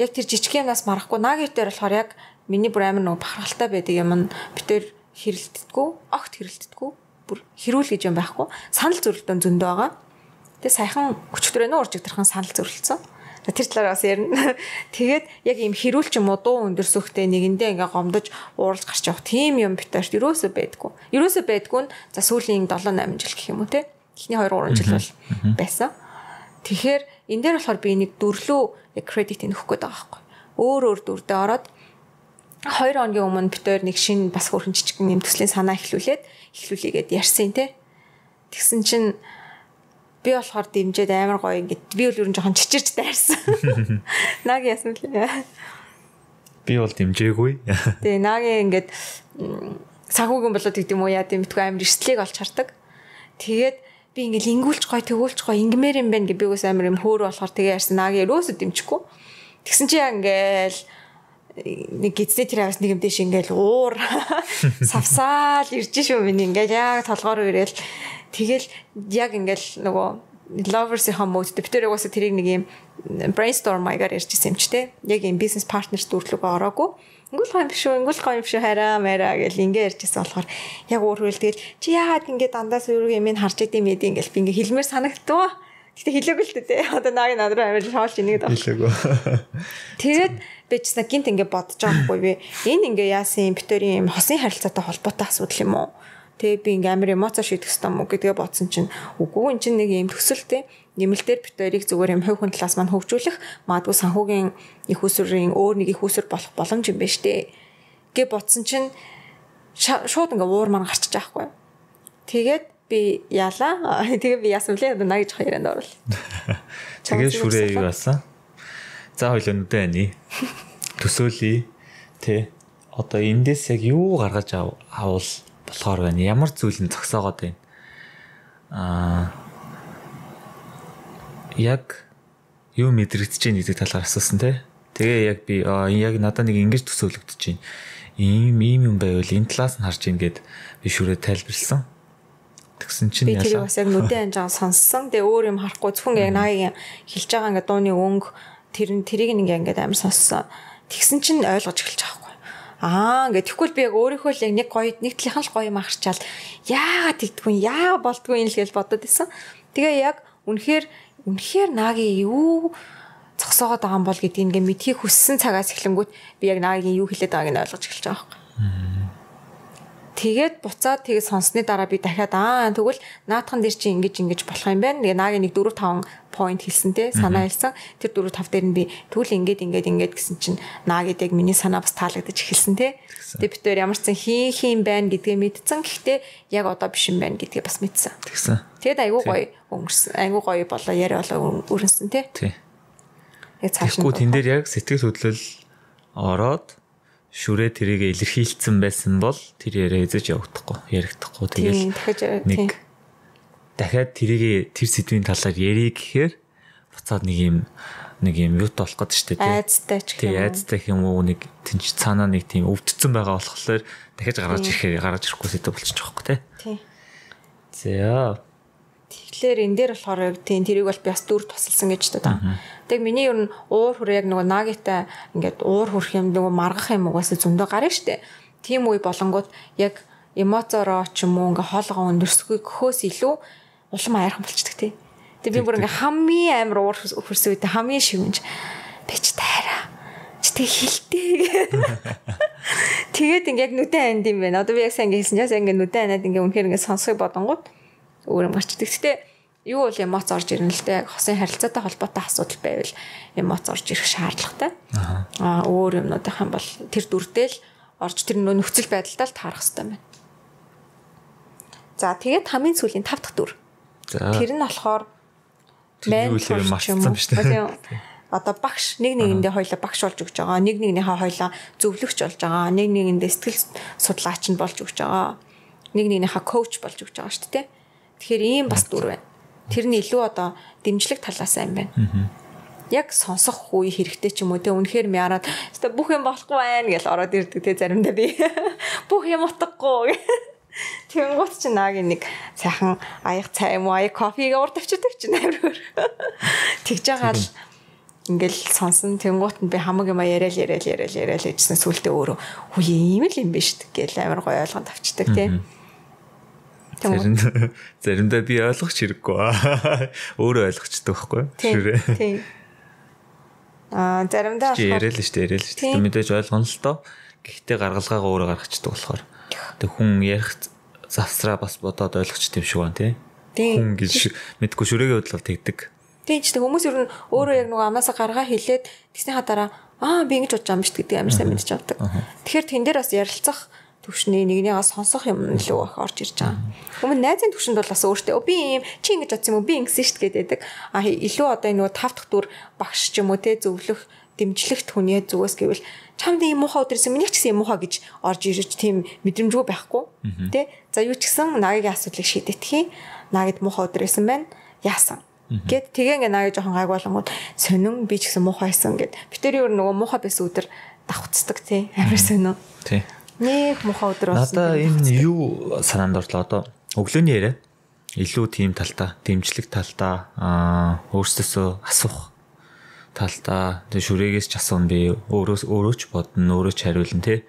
яг тэр жижиг юмнаас марахгүй наагийн дээр болохоор яг миний бүр амар нэг бахархалтай байдаг юм нь битээр хэрэлддэггүй, огт хэрэлддэггүй. Бүр хэрүүл гэж юм байхгүй. Санал зөрөлтөө зөндөө байгаа. Тэгээ саяхан өчтөрөө нөө урж игдэрхэн санал зөрөлдсөн. Тэр талаар бас ярина. Тэгээд яг ийм хэрүүл ч юм уу дуу өндөрсөхтэй нэгэндээ ингээ гомдож ууралж гарч явах тийм юм битэрт ерөөсөө байдгүй. Ерөөсөө байдгүй нь за сүүлийн 7-8 жил гэх юм уу те. Эхний 2-3 жил бол байсан. Тэгэхээр энэ дээр болохоор би нэг дөрвлөө яг кредит өгөх гээд байгаа байхгүй. Өөр дүрдээ ороод 2 хоногийн өмнө битээр нэг шинэ бас хөрхөн жижиг юм төслийн санаа эхлүүлээгээд ярьсан те. Тэгсэн чинь би болохоор дэмжээд амар гоё ингээд би бол ер нь жоохон чичирч дайрсан. Наги яасан лээ. Би бол дэмжээгүй. Тэгээ наги ингээд санхүүгийн болоод гэдэг юм уу яа дэмтгүй амар эрсдлийг олж хардаг. Тэгээд би ингээд ингүүлж гоё тэгүүлж гоё ингмээр юм байна гэ би үс амар юм хөөр болохоор тэгээ ярьсан наги ерөөсөө дэмжихгүй. Тэгсэн чи яа ингээл нэг гизээ тэр аваас нэг юм дэш ингээл уур савсаал ирж шүү миний ингээл яг толгоор ирээл тэгэл яг ингээл нөгөө lovers-ийн мод дэвтэр угаасаа тэрийг нэг юм brainstorm маягаар ярьжсэн юм ч те яг юм бизнес партнерс дүрлүгөө ороогүй ингүүл гоё юм шүү хараа мараа гэл ингээ ярьжсэн болохоор яг өөр хөл тэгэл чи яагаад ингээ дандаа сүрэг юм харж идэм эд ингээл би ингээ хэлмээр санагдтгаа гэтээ хэлээгүй л дээ одоо наагийн над руу амар шоолж ийнэ гэдэг хэлээгүй тэгээд би ч гинт ингээ бодож байгаа хгүй би энэ ингээ яасан битэрийн юм хосын харилцаатай холбоотой асуудал юм уу Тэ би ингээм амар эмоц шийдэх ёстой мó гэдгээ бодсон чинь үгүй энэ чинь нэг юм төсөлтэй нэмэлтээр бит хоёрыг зүгээр юм хувь хүн талаас маань хөгжүүлэх магадгүй санхүүгийн их усрын өөр нэг их уср болох боломж юм байна штэ гэ бодсон чинь шууд ингээ уур маань гарчих жоохгүй. Тэгээд би яалаа. Тэгээ би яасан блэ наа гэж хоёранд орвол. Тэгээ шүрээ юу басан? За хоёул өнөдөө ани. Төсөөлье. Тэ. Одоо эндээс яг юу гаргаж авал болохоор байна. Ямар зүйлэн зогсоогоод байна. Яг юу мэдрэгдэж байна гэдэг талаар асуусан те. Тэгээ яг би яг надад нэг ингэж төсөөлөгдөж байна. Ийм юм байвал энэ талаас нь харж ийн гэд би шүрээ тайлбарлсан. Тэгсэн чинь яа. Би тэрийг бас яг нүдэн анжаа сонссон. Тэгээ өөр юм харахгүй зөвхөн яг наагийн хэлж байгаа ингээ дууны өнгө тэрийг ингээ амар сонссон. Тэгсэн чинь ойлгож эхэлж байгаа байхгүй. Ингээ тэгвэл би яг өөрийнхөө л яг нэг гоё нэг талынхан л гоё юм харчаал яагаад тэгдэггүй яа болдгүй юм л гэж бодод исэн. Тэгээ яг үнэхээр наагийн юу зогсоогоод байгаа юм бол гэдгийг ингээ мэдхийг хүссэн цагаас эхлэнгүүт би яг наагийн юу хэлээд байгааг нь ойлгож эхэлж байгаа байхгүй. Тэгээд буцаад тэгээд сонссны дараа би дахиад тэгвэл наадхан дээр чи ингэж болох юм байна. Тэгээ наагийн нэг 4-5 point хэлсэн те санаа хэлсэн. Тэр 4-5 дээр нь би тэгвэл ингэж гэсэн чинь наагээд яг миний санаа бас таалагдаж эхэлсэн те. Тэгээд бид тээр ямар ч зэн хийх байна гэдгээ мэдсэн. Гэхдээ яг одоо биш юм байна гэдгээ бас мэдсэн. Тэгсэн. Тэгээд айгуу гоё өнгөрсөн. Айгуу гоё болоо яриа болоо өрнөсөн те. Тий. Тэгэхгүй тэн дээр яг сэтгэл хөдлөл ороод шүрээ тэрийг илэрхийлсэн байсан бол тэр яриа эзэж явагдахгүй яригдахгүй тэгэл дахиад тэрийг тэр сэдвийн талаар ярих гэхээр буцаад нэг юм юут болох гэдэг шүү дээ айцтай ч гэх юм. Айцтай юм уу нэг тэнч цаанаа нэг тийм өвдсөн байгаа болохоор дахиж гаргаж ирэхгүй сэдв болчих жоохгүй тий. За тэгэхээр энэ дээр болохоор тийм тэрийг бол би бас дүр тусалсан гэж байна. Тэг миний ер нь уур хөр яг нөгөө наагитай ингээд уур хөрх юм нөгөө маргах юм угаасаа зөндөө гарна штэ. Тийм үе болонгууд яг эмоцороо ч юм уу ингээ хоолгоо өндөрсгөхөөс илүү улам аяархан болчихдаг тий. Тэг би бүр ингээ хамгийн амар уур хөрсөн үедээ хамгийн шивэнж бич тайраа. Чи тэг хилтэй. Тэгээд ингээ яг нүдэн анд юм байна. Одоо би яг сайн ингээ хэлсэн чаас ингээ нүдэн анаад ингээ үнэхээр ингээ сонсхийг бодонгууд өөр юм гарчдаг. Гэтэ юу бол эмоц орж ирнэ л дээ. Хосын харилцаатай холбоотой асуудал байвал эмоц орж ирэх шаардлагатай. Өөр юмнуудынх юм бол тэр дүрдэл орж тэр нөхцөл байдалтай л таарах хэрэгтэй байна. За тэгээд хамгийн сүүлийн 5 дахь дүр. Тэр нь болохоор ментор марцсан шүү дээ. Одоо багш нэгэндээ хоёлаа багш болж өгч байгаа. Нэгнийхээ хоёлаа зөвлөгч болж байгаа. Нэгэндээ сэтгэл судлаач нь болж өгч байгаа. Нэгнийхээ коуч болж өгч байгаа шүү дээ. Тэгэхээр ийм бас дүр байна. Тэр нь илүү одоо дэмжлэг талаас юм байна. Яг сонсох үе хэрэгтэй ч юм уу те үнэхээр мяраад бүх юм болохгүй байна гэж ороод ирдэг те заримдаа би бүх юм утгагүй. Тэнгуут чи наагийн нэг сайхан аяг цай юм уу аяг кофег урд авчирдаг чи нээр. Тэгж байгаа л ингээл сонсон тэнгуут нь би хамаг юм яриад гэжсэн сүултээ өөрөө хүү ийм л юм биш гэж амар гоё ойлгонд авчдаг те. Заримдаа би ойлгох хэрэггүй. Өөрөө ойлгочтой байхгүй юу? Тийм. Заримдаа яриа л шүү дээ. Мэдээж ойлгоно л доо. Гэхдээ гаргалгаагаа өөрөө гаргацдаг болохоор. Тэг хүн ярих завсраа бас бодоод ойлгочтой юм шиг байна тий. Хүн гэж мэдгүй шүрээгийн бодлол тэгдэг. Тийм ч хүмүүс ер нь өөрөө яг нөгөө амаасаа гаргаа хэлээд тэгснийхаа дараа би ингэж бодож байгаа юм шүү гэдэг амар сайн мэдчих авдаг. Тэгэхээр тэн дээр бас ярилцах төвшний нэгнийгээ сонсох юм илүү их орж ирж байгаа. Өмнө найзын төвшөнд бол бас өөртөө би ийм чи ингэж бодсон юм уу би ингэсэн шүү дээ гэдэг. Илүү одоо энэ нөгөө 5 дахь дүр багш ч юм уу те зөвлөх дэмжлэгт хүний зүгээс гэвэл чамд ийм муухай өдрөөс миний ч гэсэн юм муухай гэж орж ирж тийм мэдрэмжгүй байхгүй те. За юу ч гэсэн наагийн асуудлыг шийдэтгэе. Наагид муухай өдрөөсөн байна. Яасан. Гэт тэгээ ингээ наагийн жоохон гайг болонгууд сонин би ч гэсэн муухайсан гэд. Битэр юу нөгөө муухай байсан өдөр давхцдаг те. Амар сонин. Тий. Нэг муухай өдөр болсон. Надаа энэ юу санаанд орлоо одоо өглөөний яриа илүү тийм талтай, дэмжлэг талтай, өөрсдөөсөө асуух талтай, тэгээ шүрээгээс ч асуун би өөрөө ч бодно, өөрөө ч хариулна тий.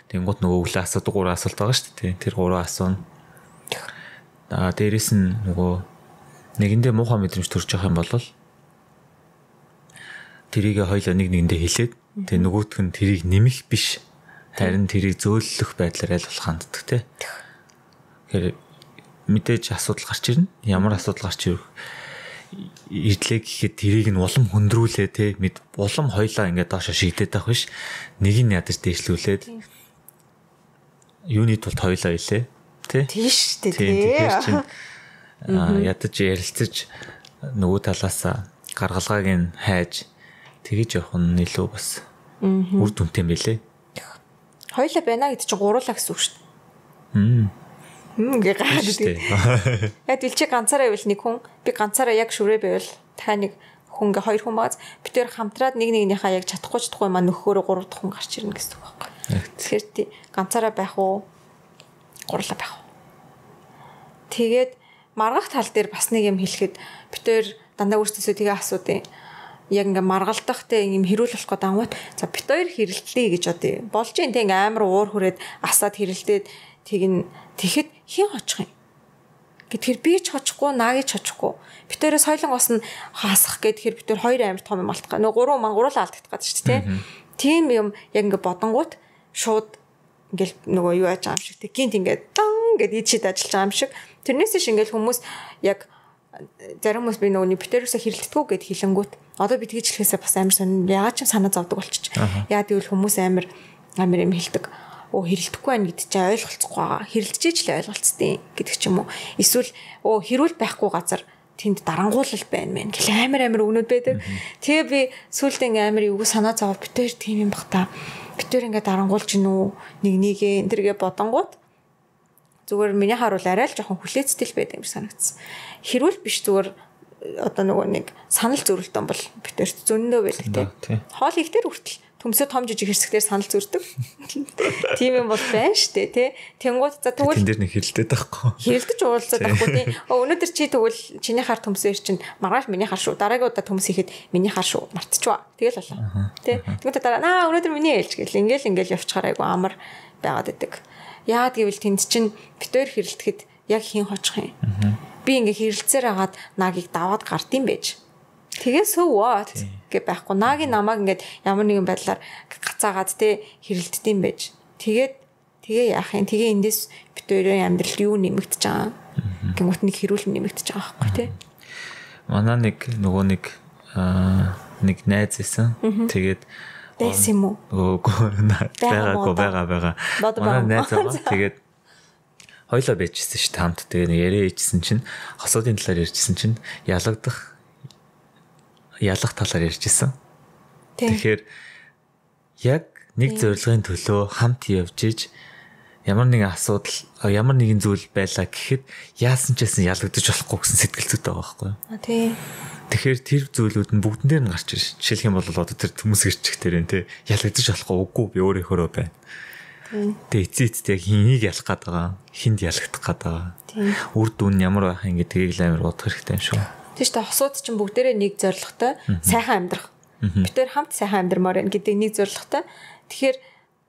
Тэнгуут нөгөө өглөө асуудаг 3 асуулт байгаа шүү дээ. Тэр 3 асууна. Дээрээс нь нөгөө нэгэндээ муухай мэдрэмж төрж байгаа юм бол тэрийг хоёлоо нэгэндээ хэлээд тэгээ нөгөөх нь тэрийг нэмэх биш. Харин тэрийг зөөлөх байдлаар аль болох ханддаг тий. Тэгэхээр мэдээж асуудал гарч ирнэ. Ямар асуудал гарч ирэх ирлээ гэхэд тэрийг нь улам хөндрүүлээ те улам хоёлаа ингээд доошо шигдээд байх биш. Нэг нь ядаж дээшлүүлээд юуны тулд хоёлаа илээ те. Тийш үү те. Тэгэхээр чинь ядаж ярилцаж нөгөө талаас гаргалгааг нь хайж тэгэж явах нь илүү бас үр дүнтэй юм билэ. Хоёлаа байна гэдэг чинь гуруулаа гэсэн үг шүү дээ. Гээ гайхаад үү. Яг дэлчи ганцаараа байвал нэг хүн би ганцаараа яг шүрээ байвал та нэг хүн гээ хоёр хүн бааз бид тээр хамтраад нэг нэгнийхээ яг чадахгүй маа нөхөөрөө гурав дахь хүн гарч ирнэ гэсэн үг байхгүй. Тэгэхээр тий ганцаараа байх уу гурлаа байх уу. Тэгээд маргах тал дээр бас нэг юм хэлэхэд бид тээр дандаа өөрсдөөсөө тэгээ асуудیں۔ Яг ингээ маргалдахтай юм хэрүүл болох гээд ангууд за бит хоёр хэрэлтлээ гэж одоо болж ин тэг амар уур хүрээд асаад хэрэлдээд тэгэхэд хин хочих юм гэхээр би ч хочихгүй нааги ч хочихгүй бит хоёроо соёлон ус нь хаасах гэхээр бит хоёр амар том юм болтгоо нөгөө гурван маань гуруулаа алдах гэдэг шүү дээ тийм юм яг ингээ бодонгууд шууд ингээл нөгөө юу яаж байгаа юм шиг тэг гинт ингээ дан гэд ичид ажиллаж байгаа юм шиг тэрнээс ш ингээл хүмүүс яг зарим хүмүүс би нөгөөний битэрөөсө хэрэлдэггүй гэд хэлэнгүүт одоо би тэгж хэлэхээсээ бас амар сонь яагаад ч санаа зовдөг болчих. Яа гэвэл хүмүүс амар юм хэлдэг. Оо хэрэлдэхгүй байна гэдэг чинь ойлголцохгүй байгаа. Хэрэлдэж ч л ойлголцтой гэдэг ч юм уу. Эсвэл оо хэрүүл байхгүй газар тэнд дарангуулал байна мэн гэл амар өгнөд байдаг. Тэгээ би сүүлдээ амар эвгүй санаа зовоод битэр тийм юм бах та. Битэр ингээ дарангуулж гинүү нэг энтергээ бодонгууд зүгээр миний харуул арай л жоохон хүлээцтэй л байдаг юм санагдсан. Хэрүүл биш зүгээр одоо нөгөө нэг санал зөрөлтөн бол битэрт зөндөө байдаг тийм. Хоол ихтер хүртэл төмсөд том жижиг хэсгээр санал зөрдөг. Тийм юм бол байна штэ тий. Тэнгууд за тэгвэл тэн дээр нэг хэрэлдээд байхгүй. Хэрэлдэж уулзаад байхгүй тий. Өнөөдөр чи тэгвэл чиний хар төмсөөр чинь маргааш миний хар шүү. Дараагийн удаа төмс ихэд миний хар шүү. Мартчихва. Тэгэл болоо. Тий. Тэгвэл дараа өнөөдөр миний ээлж гэл ингээл явчихаар айгу амар байгаад идэг. Яагаад гэвэл тэнд чинь битээр хэрэлдэхэд яг хин хочих юм. Би ингээ хэрэлцээр агаад наагийг даваад гардыг байж. Тэгээ so what гэ байхгүй. Наагийн намайг ингээд ямар нэгэн байдлаар гацаагаад те хэрэлддэм байж. Тэгээ яах юм. Тэгээ эндээс бит хоёрын амьдрал юу нэмэгдэж байгаа. Гингут нэг хэрүүл нэмэгдэж байгаа байхгүй те. Манай нэг найз исэн. Тэгээд дэс юм уу? Бага. Манай найз байгаа. Тэгээд хоёлоо байжсэн шүү дээ хамт. Тэгээ нэг яриа ичсэн чинь хосуудын талаар ярьжсэн чинь ялах талаар ярьжсэн. Тэгэхээр яг нэг зорилгын төлөө хамт явж иж ямар нэгэн асуудал ямар нэгэн зүйл байлаа гэхэд яасан ч гэсэн ялагдаж болохгүй гэсэн сэтгэл зүйтэй байгаа байхгүй юу? Тийм. Тэгэхээр тэр зүйлүүд нь бүгдэн дээр нь гарч ирж. Жишээлх юм бол одоо тэр төмс гэрчих дээр нь те ялагдаж болохгүй үгүй би өөрийнхөө байна. Тэгээ эцээдтэй яг хэнийг ялах гээд байгаа, хинд ялагдах гээд байгаа. Үр дүн ямар байх юм гэдгийг л амар бодох хэрэгтэй юм шүү. Тийм шүү дээ. Хосууд чинь бүгдээрээ нэг зорилготой сайхан амьдрах. Битээр хамт сайхан амьдрмаар байна гэдэг нэг зорилготой. Тэгэхээр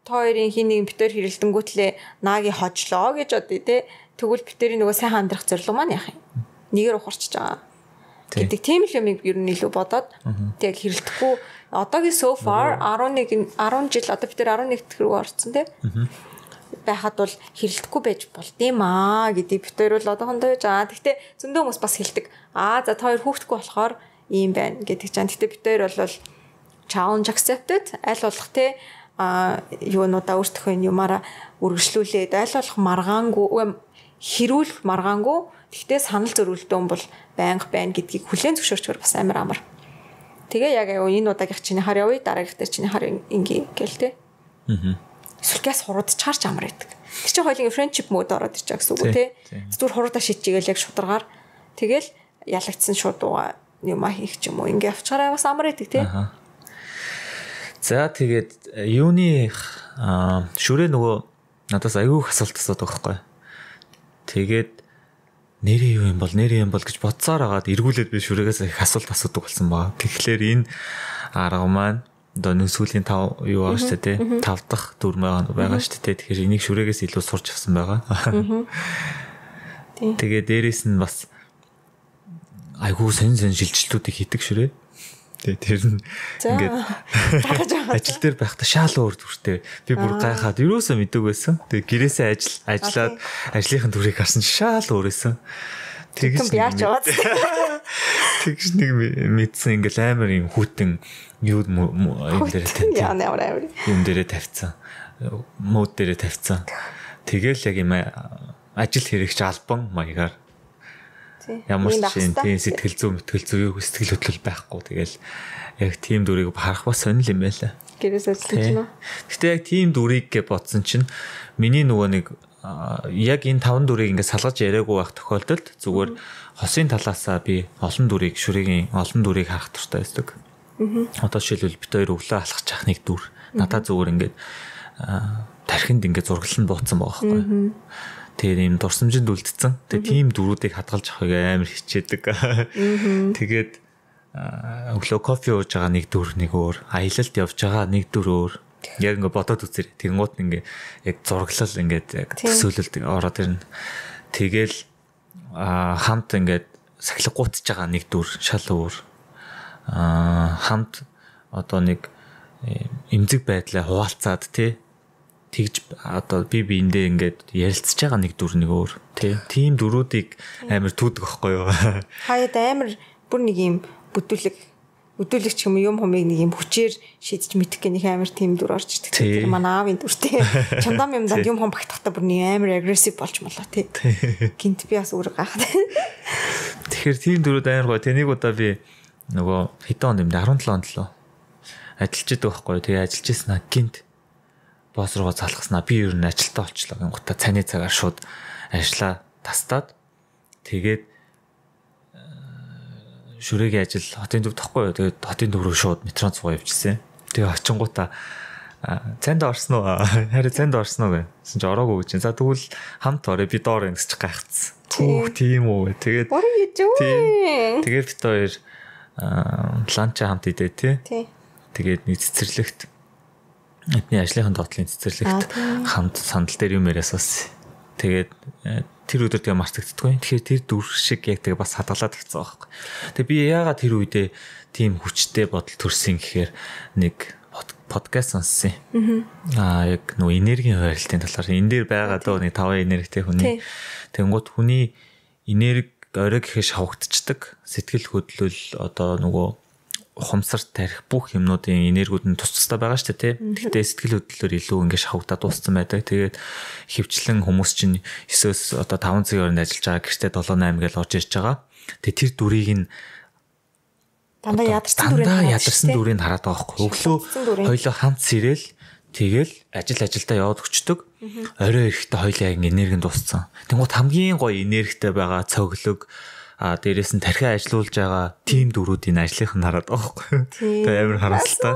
та хоёрын хин нэг битээр хэрэлдэнгүүтлээ нааги хожлоо гэж бодъё те. Тэгвэл битээрийн нөгөө сайхан амьдрах зорилго маань яах юм? Нэгээр ухарчж байгаа. Гэдэг тийм л юм ер нь илүү бодоод тэг хэрэлдэхгүй одоогийн so far 10 жил одоо бид нар 11 дэх рүү орсон тий. Байхад бол хэрэлдэхгүй байж болдъимаа гэдэг бид хоёр бол одоохондоо яаж гэхдээ зөндөө хүмүүс бас хэлдэг. За та хоёр хүүхдэггүй болохоор ийм байна гэдэг чам. Гэхдээ бид хоёр бол challenge accepted аль болох тий юунуудаа өөртөө юмараа үргэлжлүүлээд аль болох маргаангүй хэрүүл маргаангүй гэхдээ санал зөрүүлтэн бол байнга байна гэдгийг хүлээн зөвшөөрчгөр бас амар. Тэгээ яг энэ удаагийнх чиний хар явъя дараагийнх дээр чиний хар ингээ гээл те. Эсвэл газ хуруудч харж амар байдаг. Тэр чинь хоёулын friendship mode ороод ирж байгаа гэсэн үг те. Зүгээр хуруудаа шийдчихгээл яг шударгаар тэгэл ялагдсан шууд юм хийх ч юм уу ингээ авчаараа бас амар байдаг те. За тэгээд юуны шүрээ нөгөө надаас аягүй асуулт асуудаг байхгүй. Тэгээд нэрээ юу юм бол гэж бодсоор агаад эргүүлээд би шүрээс их асуулт асуудаг болсон баа. Тэгэхээр энэ арга маань одоо нэг сүүлийн 5 юу байгаа шүү дээ. 5 дахь дүр байгаа шүү дээ. Тэгэхээр энийг шүрээс илүү сурч авсан байгаа. Тэгээ дээрэс нь бас айгүй сонь шилжилтүүдийг хийдэг шүрээ. Тэгээ тэр нь ингээд ажил дээр байхдаа шал өөр дүртэй. Би бүр гайхаад юусоо мэддэг байсан. Тэгээ гэрээсээ ажиллаад ажлынхын дүрийг харсан шал өөрөөсөн. Тэгж яаж яваад. Тэгж нэг мэдсэн ингээл амар юм хүүтэн юу юм дээр тавьсан. Юм дээр тавьсан. Мод дээр тавьсан. Тэгэл яг юм ажил хэрэгч албан маягаар ямар ч тийм сэтгэл зүй юу сэтгэл хөдлөл байхгүй. Тэгэл яг тийм дүрийг харах бас сонир юм байлаа. Гэрээс ажиллаж байна. Гэтэ яг тийм дүрийг гэж бодсон чинь миний нөгөө нэг яг энэ 5 дүрийг ингээд салгаж яриаггүй байх тохиолдолд зүгээр хосын талаасаа би олон дүрийг шүрэгийн олон дүрийг харах туфтаа байдаг. Одоо жишээлбэл бит хоёр өглөө алхаж явах нэг дүр надад зүгээр ингээд тархинд ингээд зурглан бууцсан байгаа байхгүй. Тэгээ юм дурсамжинд үлдсэн. Тэгээ тийм дүрүүдийг хадгалж авахыг амар хичээдэг. Тэгээд өглөө кофе ууж байгаа нэг дүр нэг өөр, аялалд явж байгаа нэг дүр өөр. Яг ингээд бодоод үзэр. Тэнгуут ингээд яг зурглал ингээд яг төсөөлөлд ороод ирнэ. Тэгэл хамт ингээд сахилга гутж байгаа нэг дүр шал өөр. Хамт одоо нэг эмзэг байдлаа хуваалцаад тий тэгж одоо би биэндээ ингээд ярилцж байгаа нэг дүр нэг өөр тийм дүрүүдийг амар түүдэг байхгүй юу. Хаяад амар бүр нэг юм бүдүүлэгч юм хумыг нэг юм хүчээр шийдэж мэдэх гэх нэг амар тийм дүр орж ирдэг. Тэр манай аавын дүртэй. Чамдам юмдаа юм хум багтахтаа бүр нэг амар агрессив болж молоо тий. Гинт би бас өөр гайхаад. Тэгэхээр тийм дүрүүд амар гоё. Тэнийг удаа би нөгөө хэдэн онд юм 17 онд л ажиллаж идэг байхгүй юу. Тэгээ ажиллаж ирсэн гинт босс руугаа залгаснаа би ер нь ажилтаа олчлоо гингуудаа цааны цагаар шууд ажиллаа тастаад тэгээд шүрэгийн ажил хотын төв тахгүй юу. Тэгээд хотын төв рүү шууд метрон цугаа явчихсан. Тэгээ очингуудаа цанд орсон уу? Харин цанд орсон уу гэсэн чи ороогүй гэж. За тэгвэл хамт орё би доор юм гэж гайхацсан. Түүх тийм үү. Тэгээд тэгээд бит хоёр ланча хамт идэ тий. Тэгээд нэг цэцэрлэгт эдний ажлынхын доотлын цэцэрлэгт хамт сандал дээр юм яриас бас тэгээд тэр өдөр тэгээ мартагддаггүй. Тэгэхээр тэр дүр шиг яг тэгээ бас хадгалаад ирсэн байхгүй. Тэгээ би яагаад тэр үедээ тийм хүчтэй бодол төрсөн гэхээр нэг подкаст сонссон. Яг нөө энергийн хуваарлтын талаар энэ дээр байгаа дөө нэг 5 энергитэй хүний. Тэнгуут хүний энерги орой гэхээ шавагдчихдаг. Сэтгэл хөдлөл одоо нөгөө ухамсарт тарих бүх юмнуудын энергиуд нь тус тустай байгаа шүү дээ тий. Гэхдээ сэтгэл хөдлөлөөр илүү ингэ шавагдаад дууссан байдаг. Тэгээд хөвчлэн хүмүүс чинь 9-өөс одоо 5 цагийн хооронд ажиллаж байгаа гэртээ 7-8 гэж орж ирж байгаа. Тэгээд тэр дүрийг нь дандаа ядарсан дүрийг хараад байгаа байхгүй. Өглөө хоёлоо хамт сэрэл тэгэл ажилдаа яваад өчтдөг. Орой ирэхдээ хоёлаа ингэ энерги дууссан. Тэнгуут хамгийн гоё энергитэй байгаа цоглог дээрээс нь тархиа ажилуулж байгаа тим дөрүүдийн ажлынх нь хараад байгаа байхгүй. Тэгээ амар харамсалтай.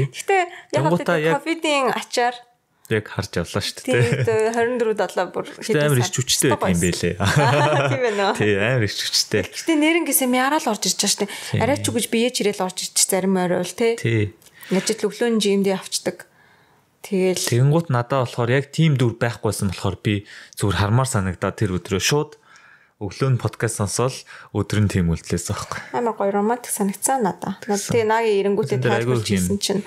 Гэхдээ яг ковидын ачаар яг харж явлаа шүү дээ. Тийм 24/7 бүр амар ич хүчтэй байх юм бэлээ. Тийм ээ нөө. Тийм амар ич хүчтэй. Гэхдээ нэрнгээсээ мяарал орж ирж байгаа шүү дээ. Арай ч үгэж бие чирэл орж ирчих зарим орой бол тий. Ажил өглөөний жимдээ авчдаг. Тэгэнгუთ надад болохоор яг тим дүр байхгүйсэн болохоор би зүгээр хармаар санагдаад тэр өдрөө шууд өглөө нь подкаст сонсоод өдөр нь тийм үлдлээс байхгүй. Амар гоё романтик санагцсан надаа. Тэгээ нагийн эренгүүтээ тайлбарлаж ирсэн чинь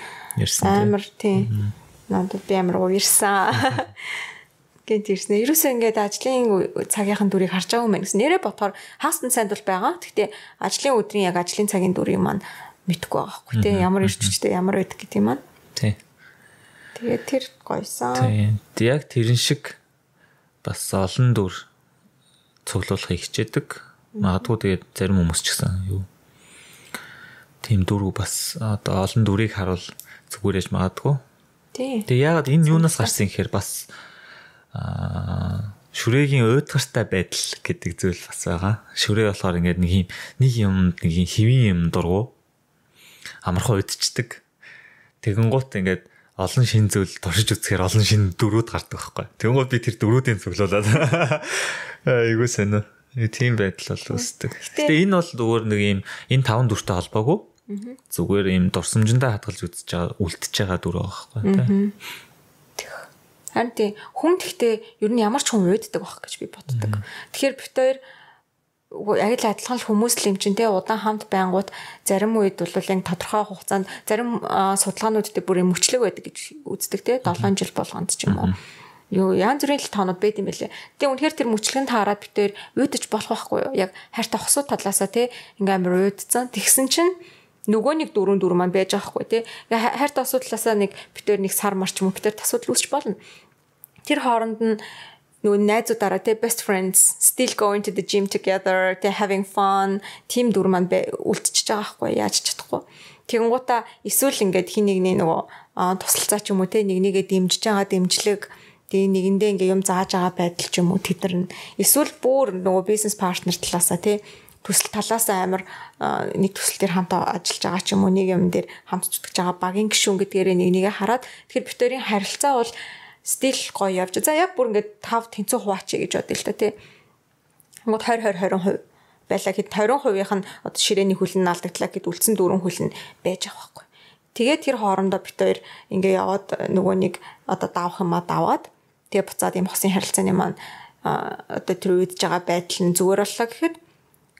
амар тийм. Надад би амар уурсан. Гэнт ирсэн. Ерөөсөө ингээд ажлын цагийнхан дүрийг харж байгаа юм байна гэсэн. Нэрээ бодохоор хаастан сайд бол байгаа. Гэхдээ ажлын өдрийн яг ажлын цагийн дүрийг маань мэдхгүй байгаа байхгүй. Тэ ямар ирч хүчтэй ямар байдаг гэдэг юм маань. Тий. Тэгээ тэр гойсон. Тий. Яг тэрэн шиг бас олон дүр цуглуулахыг хичээдэг. Магадгүй тэгээд зарим хүмүүс ч гэсэн юу тийм дүрүү бас одоо олон дүрийг харуул зүгээр яж магадгүй. Тэгээ яагаад энэ юунаас гарсан гэхээр бас шүрэгийн уйдгартай байдал гэдэг зүйл бас байгаа. Шүрээ болохоор ингээд нэг юм хэвийн юм дургу амархан уйдчихдаг. Тэгэнгუთ ингээд олон шин зүйл туршиж үзэхээр олон шин дүрүүд гардаг байхгүй. Тэгэнгუთ би тэр дүрүүдийн цуглуулад айгуу сонио. Тийм байдал бол үүсдэг. Гэтэ энэ бол зүгээр нэг юм энэ 5 дүртэй холбоогүй. Зүгээр юм дурсамжиндаа хадгалж үзэж байгаа үлдчихэж байгаа дүр байгаа байхгүй. Харин тийм хүн гэхдээ ер нь ямар ч хүн уйддаг байх гэж би боддог. Тэгэхээр бит хоёр яг л адилхан л хүмүүс л юм чинь те удаан хамт байнгут зарим үед бол яг тодорхой хугацаанд зарим судалгаанууд дээр бүр мөчлөг байдаг гэж үздэг те 7 жил болгонд ч юм уу. Юу янз бүрийн л тоонууд байд юм байлээ. Тэгээ үнэхээр тэр мөчлөгэнд таарад битээр уйдаж болох байхгүй юу? Яг хайртай хосууд талаасаа те ингээм амар уйдцсан. Тэгсэн чинь нөгөө нэг дөрөв маань байж байгаа хгүй тий. Хайртай асуудлаасаа нэг битээр нэг сар марч юм битээр асуудал үүсч болно. Тэр хооронд нь нөгөө найзуудаараа тий best friends still going to the gym together they having fun team дүр маань үлдчихэж байгаа хгүй яаж чадахгүй. Тэгэнгуутаа эсвэл ингээд хин нэгний нөгөө тусалцаа ч юм уу тий нэг нэгээ дэмжиж байгаа дэмжлэг тий нэгэндээ ингээ юм зааж байгаа байдал ч юм уу тэдэр нь эсвэл бүр нөгөө бизнес партнер талаасаа тий төсөл талаасаа амар нэг төсөл дээр хамт ажиллаж байгаа ч юм уу нэг юм дээр хамт зүтгэж байгаа багийн гишүүн гэдгээрээ нэг нэгэ хараад тэгэхээр битэрийн харилцаа бол стил гоё явж. За яг бүр ингээд 5 тэнцүү хуваач гэж бодъё л та тий. Ингээд 20 байлаа гэхэд 20%-ийнх нь одоо ширээний хөлн алдагдлаа гэд үлдсэн 4 хөлн байж байгаа байхгүй. Тэгээд тэр хоорондоо битээр ингээ яваад нөгөө нэг одоо давах юмаа даваад тэгээ буцаад юм хосын харилцааны маань одоо тэр үйдж байгаа байдал нь зүгээр боллоо гэхэд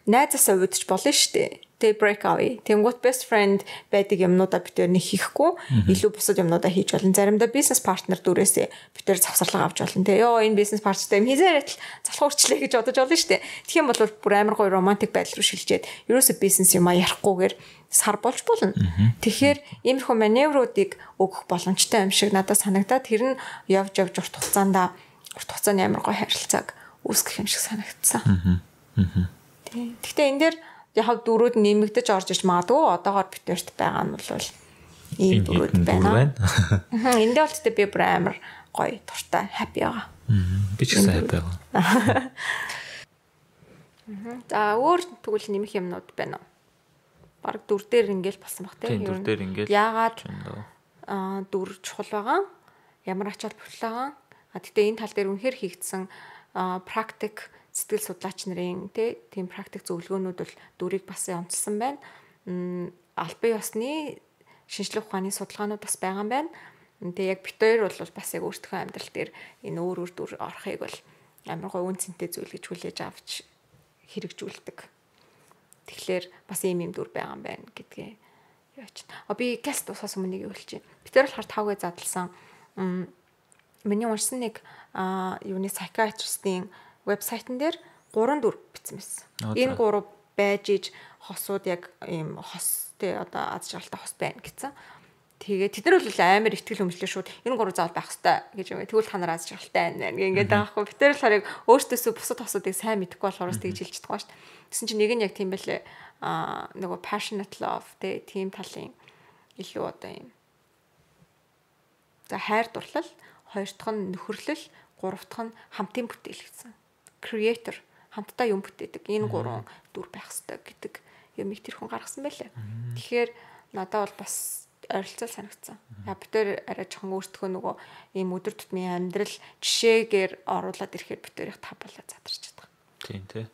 найзаасаа үйдэж болно шүү дээ. Тэгээ break away. Тэнгуут best friend байдаг юмнуудаа битээр нэг хийхгүй илүү бусад юмнуудаа хийж болно. Заримдаа бизнес партнер дүрээсээ битээр завсарлага авч болно. Тэгээ ёо энэ бизнес партнертай юм хийзээрэл залхуу урчлээ гэж бодож болно шүү дээ. Тэгэх юм бол бүр амар гоё романтик байдал руу шилжээд ерөөсөө бизнес юм ярихгүйгээр сар болж болно. Тэгэхээр иймэрхүү маневруудыг өгөх боломжтой юм шиг надад санагдаад тэр нь явж урт хугацаанд амар гоё харилцааг үүсгэх юм шиг санагдсан. Гэхдээ энэ дээр яг дөрүүд нэмэгдэж орж иж магадгүй одоогоор битэрт байгаа нь бол ийм дөрүүд байна. Энд дээр бол тэтэ би бүр амар гоё дуртай happy байгаа. Би ч гэсэн happy байгаа. За өөр тэгвэл нэмэх юмнууд байна уу? Бараг дүр дээр ингээл болсон баг тийм дүр дээр ингээл яагаад дүр чухал байгаа? Ямар ачаал бүхэл байгаа? Тэгтээ энэ тал дээр үнэхээр хийгдсэн практик сэтгэл судлаач нарын тийм практик зөвлөгөөнүүд бол дүрийг бас онцлсан байна. Албан ёсны шинжлэх ухааны судалгаанууд бас байгаа юм байна. Тэгээ яг битээр бол бас яг өөртөө амьдрал дээр энэ өөр дүр орохыг бол амар гой үн цэнтэй зүйл гэж хүлээж авч хэрэгжүүлдэг. Тэгэхээр бас ийм дүр байгаа юм байна гэдгээ яач. Би гаст усаас өмнө нэг хэлчихье. Битээр болохоор 5-гээ задлсан. Миний уншсан нэг юуны psychiatrist-ийн вебсайтн дээр 3 дүр бичсэн байсан. Энэ 3 байж иж хосууд яг ийм хос тий одоо аз жаргалтай хос байна гэсэн. Тэгээ тэд нар бол амар ихтгэл өмчлөө шууд энэ 3 заавал байх хэрэгтэй гэж юм. Тэгвэл та нар аз жаргалтай байна ингээд байгаа хгүй. Битэр л харыг өөртөөсөө бусад хосуудыг сайн мэдэхгүй болохоор тэгж хэлж чадахгүй шүү дээ. Тэсэн чинь нэг нь яг тийм байлээ. Нөгөө passionate love тий тийм талын илүү одоо ийм. За хайр дурлал, хоёр дахь нь нөхөрлөл, гурав дахь нь хамтын бүтээл гэсэн. Creator хамтдаа юм бүтээдэг. Энэ 3 дүр байх хэрэгтэй гэдэг юмыг тэр хүн гаргасан байлаа. Тэгэхээр надад бол бас ойролцоо санагдсан. Битээр арай жоохон өөртөө нөгөө ийм өдөр тутмын амьдрал жишээгээр оруулаад ирэхээр битээрийг тавбалаа задарч чадах. Тийм тий.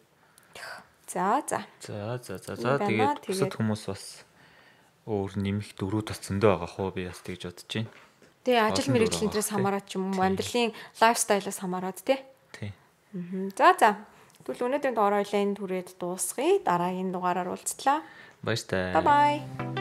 За. Тэгээд бусад хүмүүс бас өөр нэмэх дөрүүд татсандаа байгаа хөө би бас тэгж бодож байна. Тэгээ ажил мэргэжлийн дээрээс хамаарат ч юм уу амьдралын лайфстайлаас хамаарат тий. За. Тэгвэл өнөөдрийн дугаар хоёлаа энэ түрээд дуусгая. Дараагийн дугаараар уулзтлаа. Баяртай. Bye bye.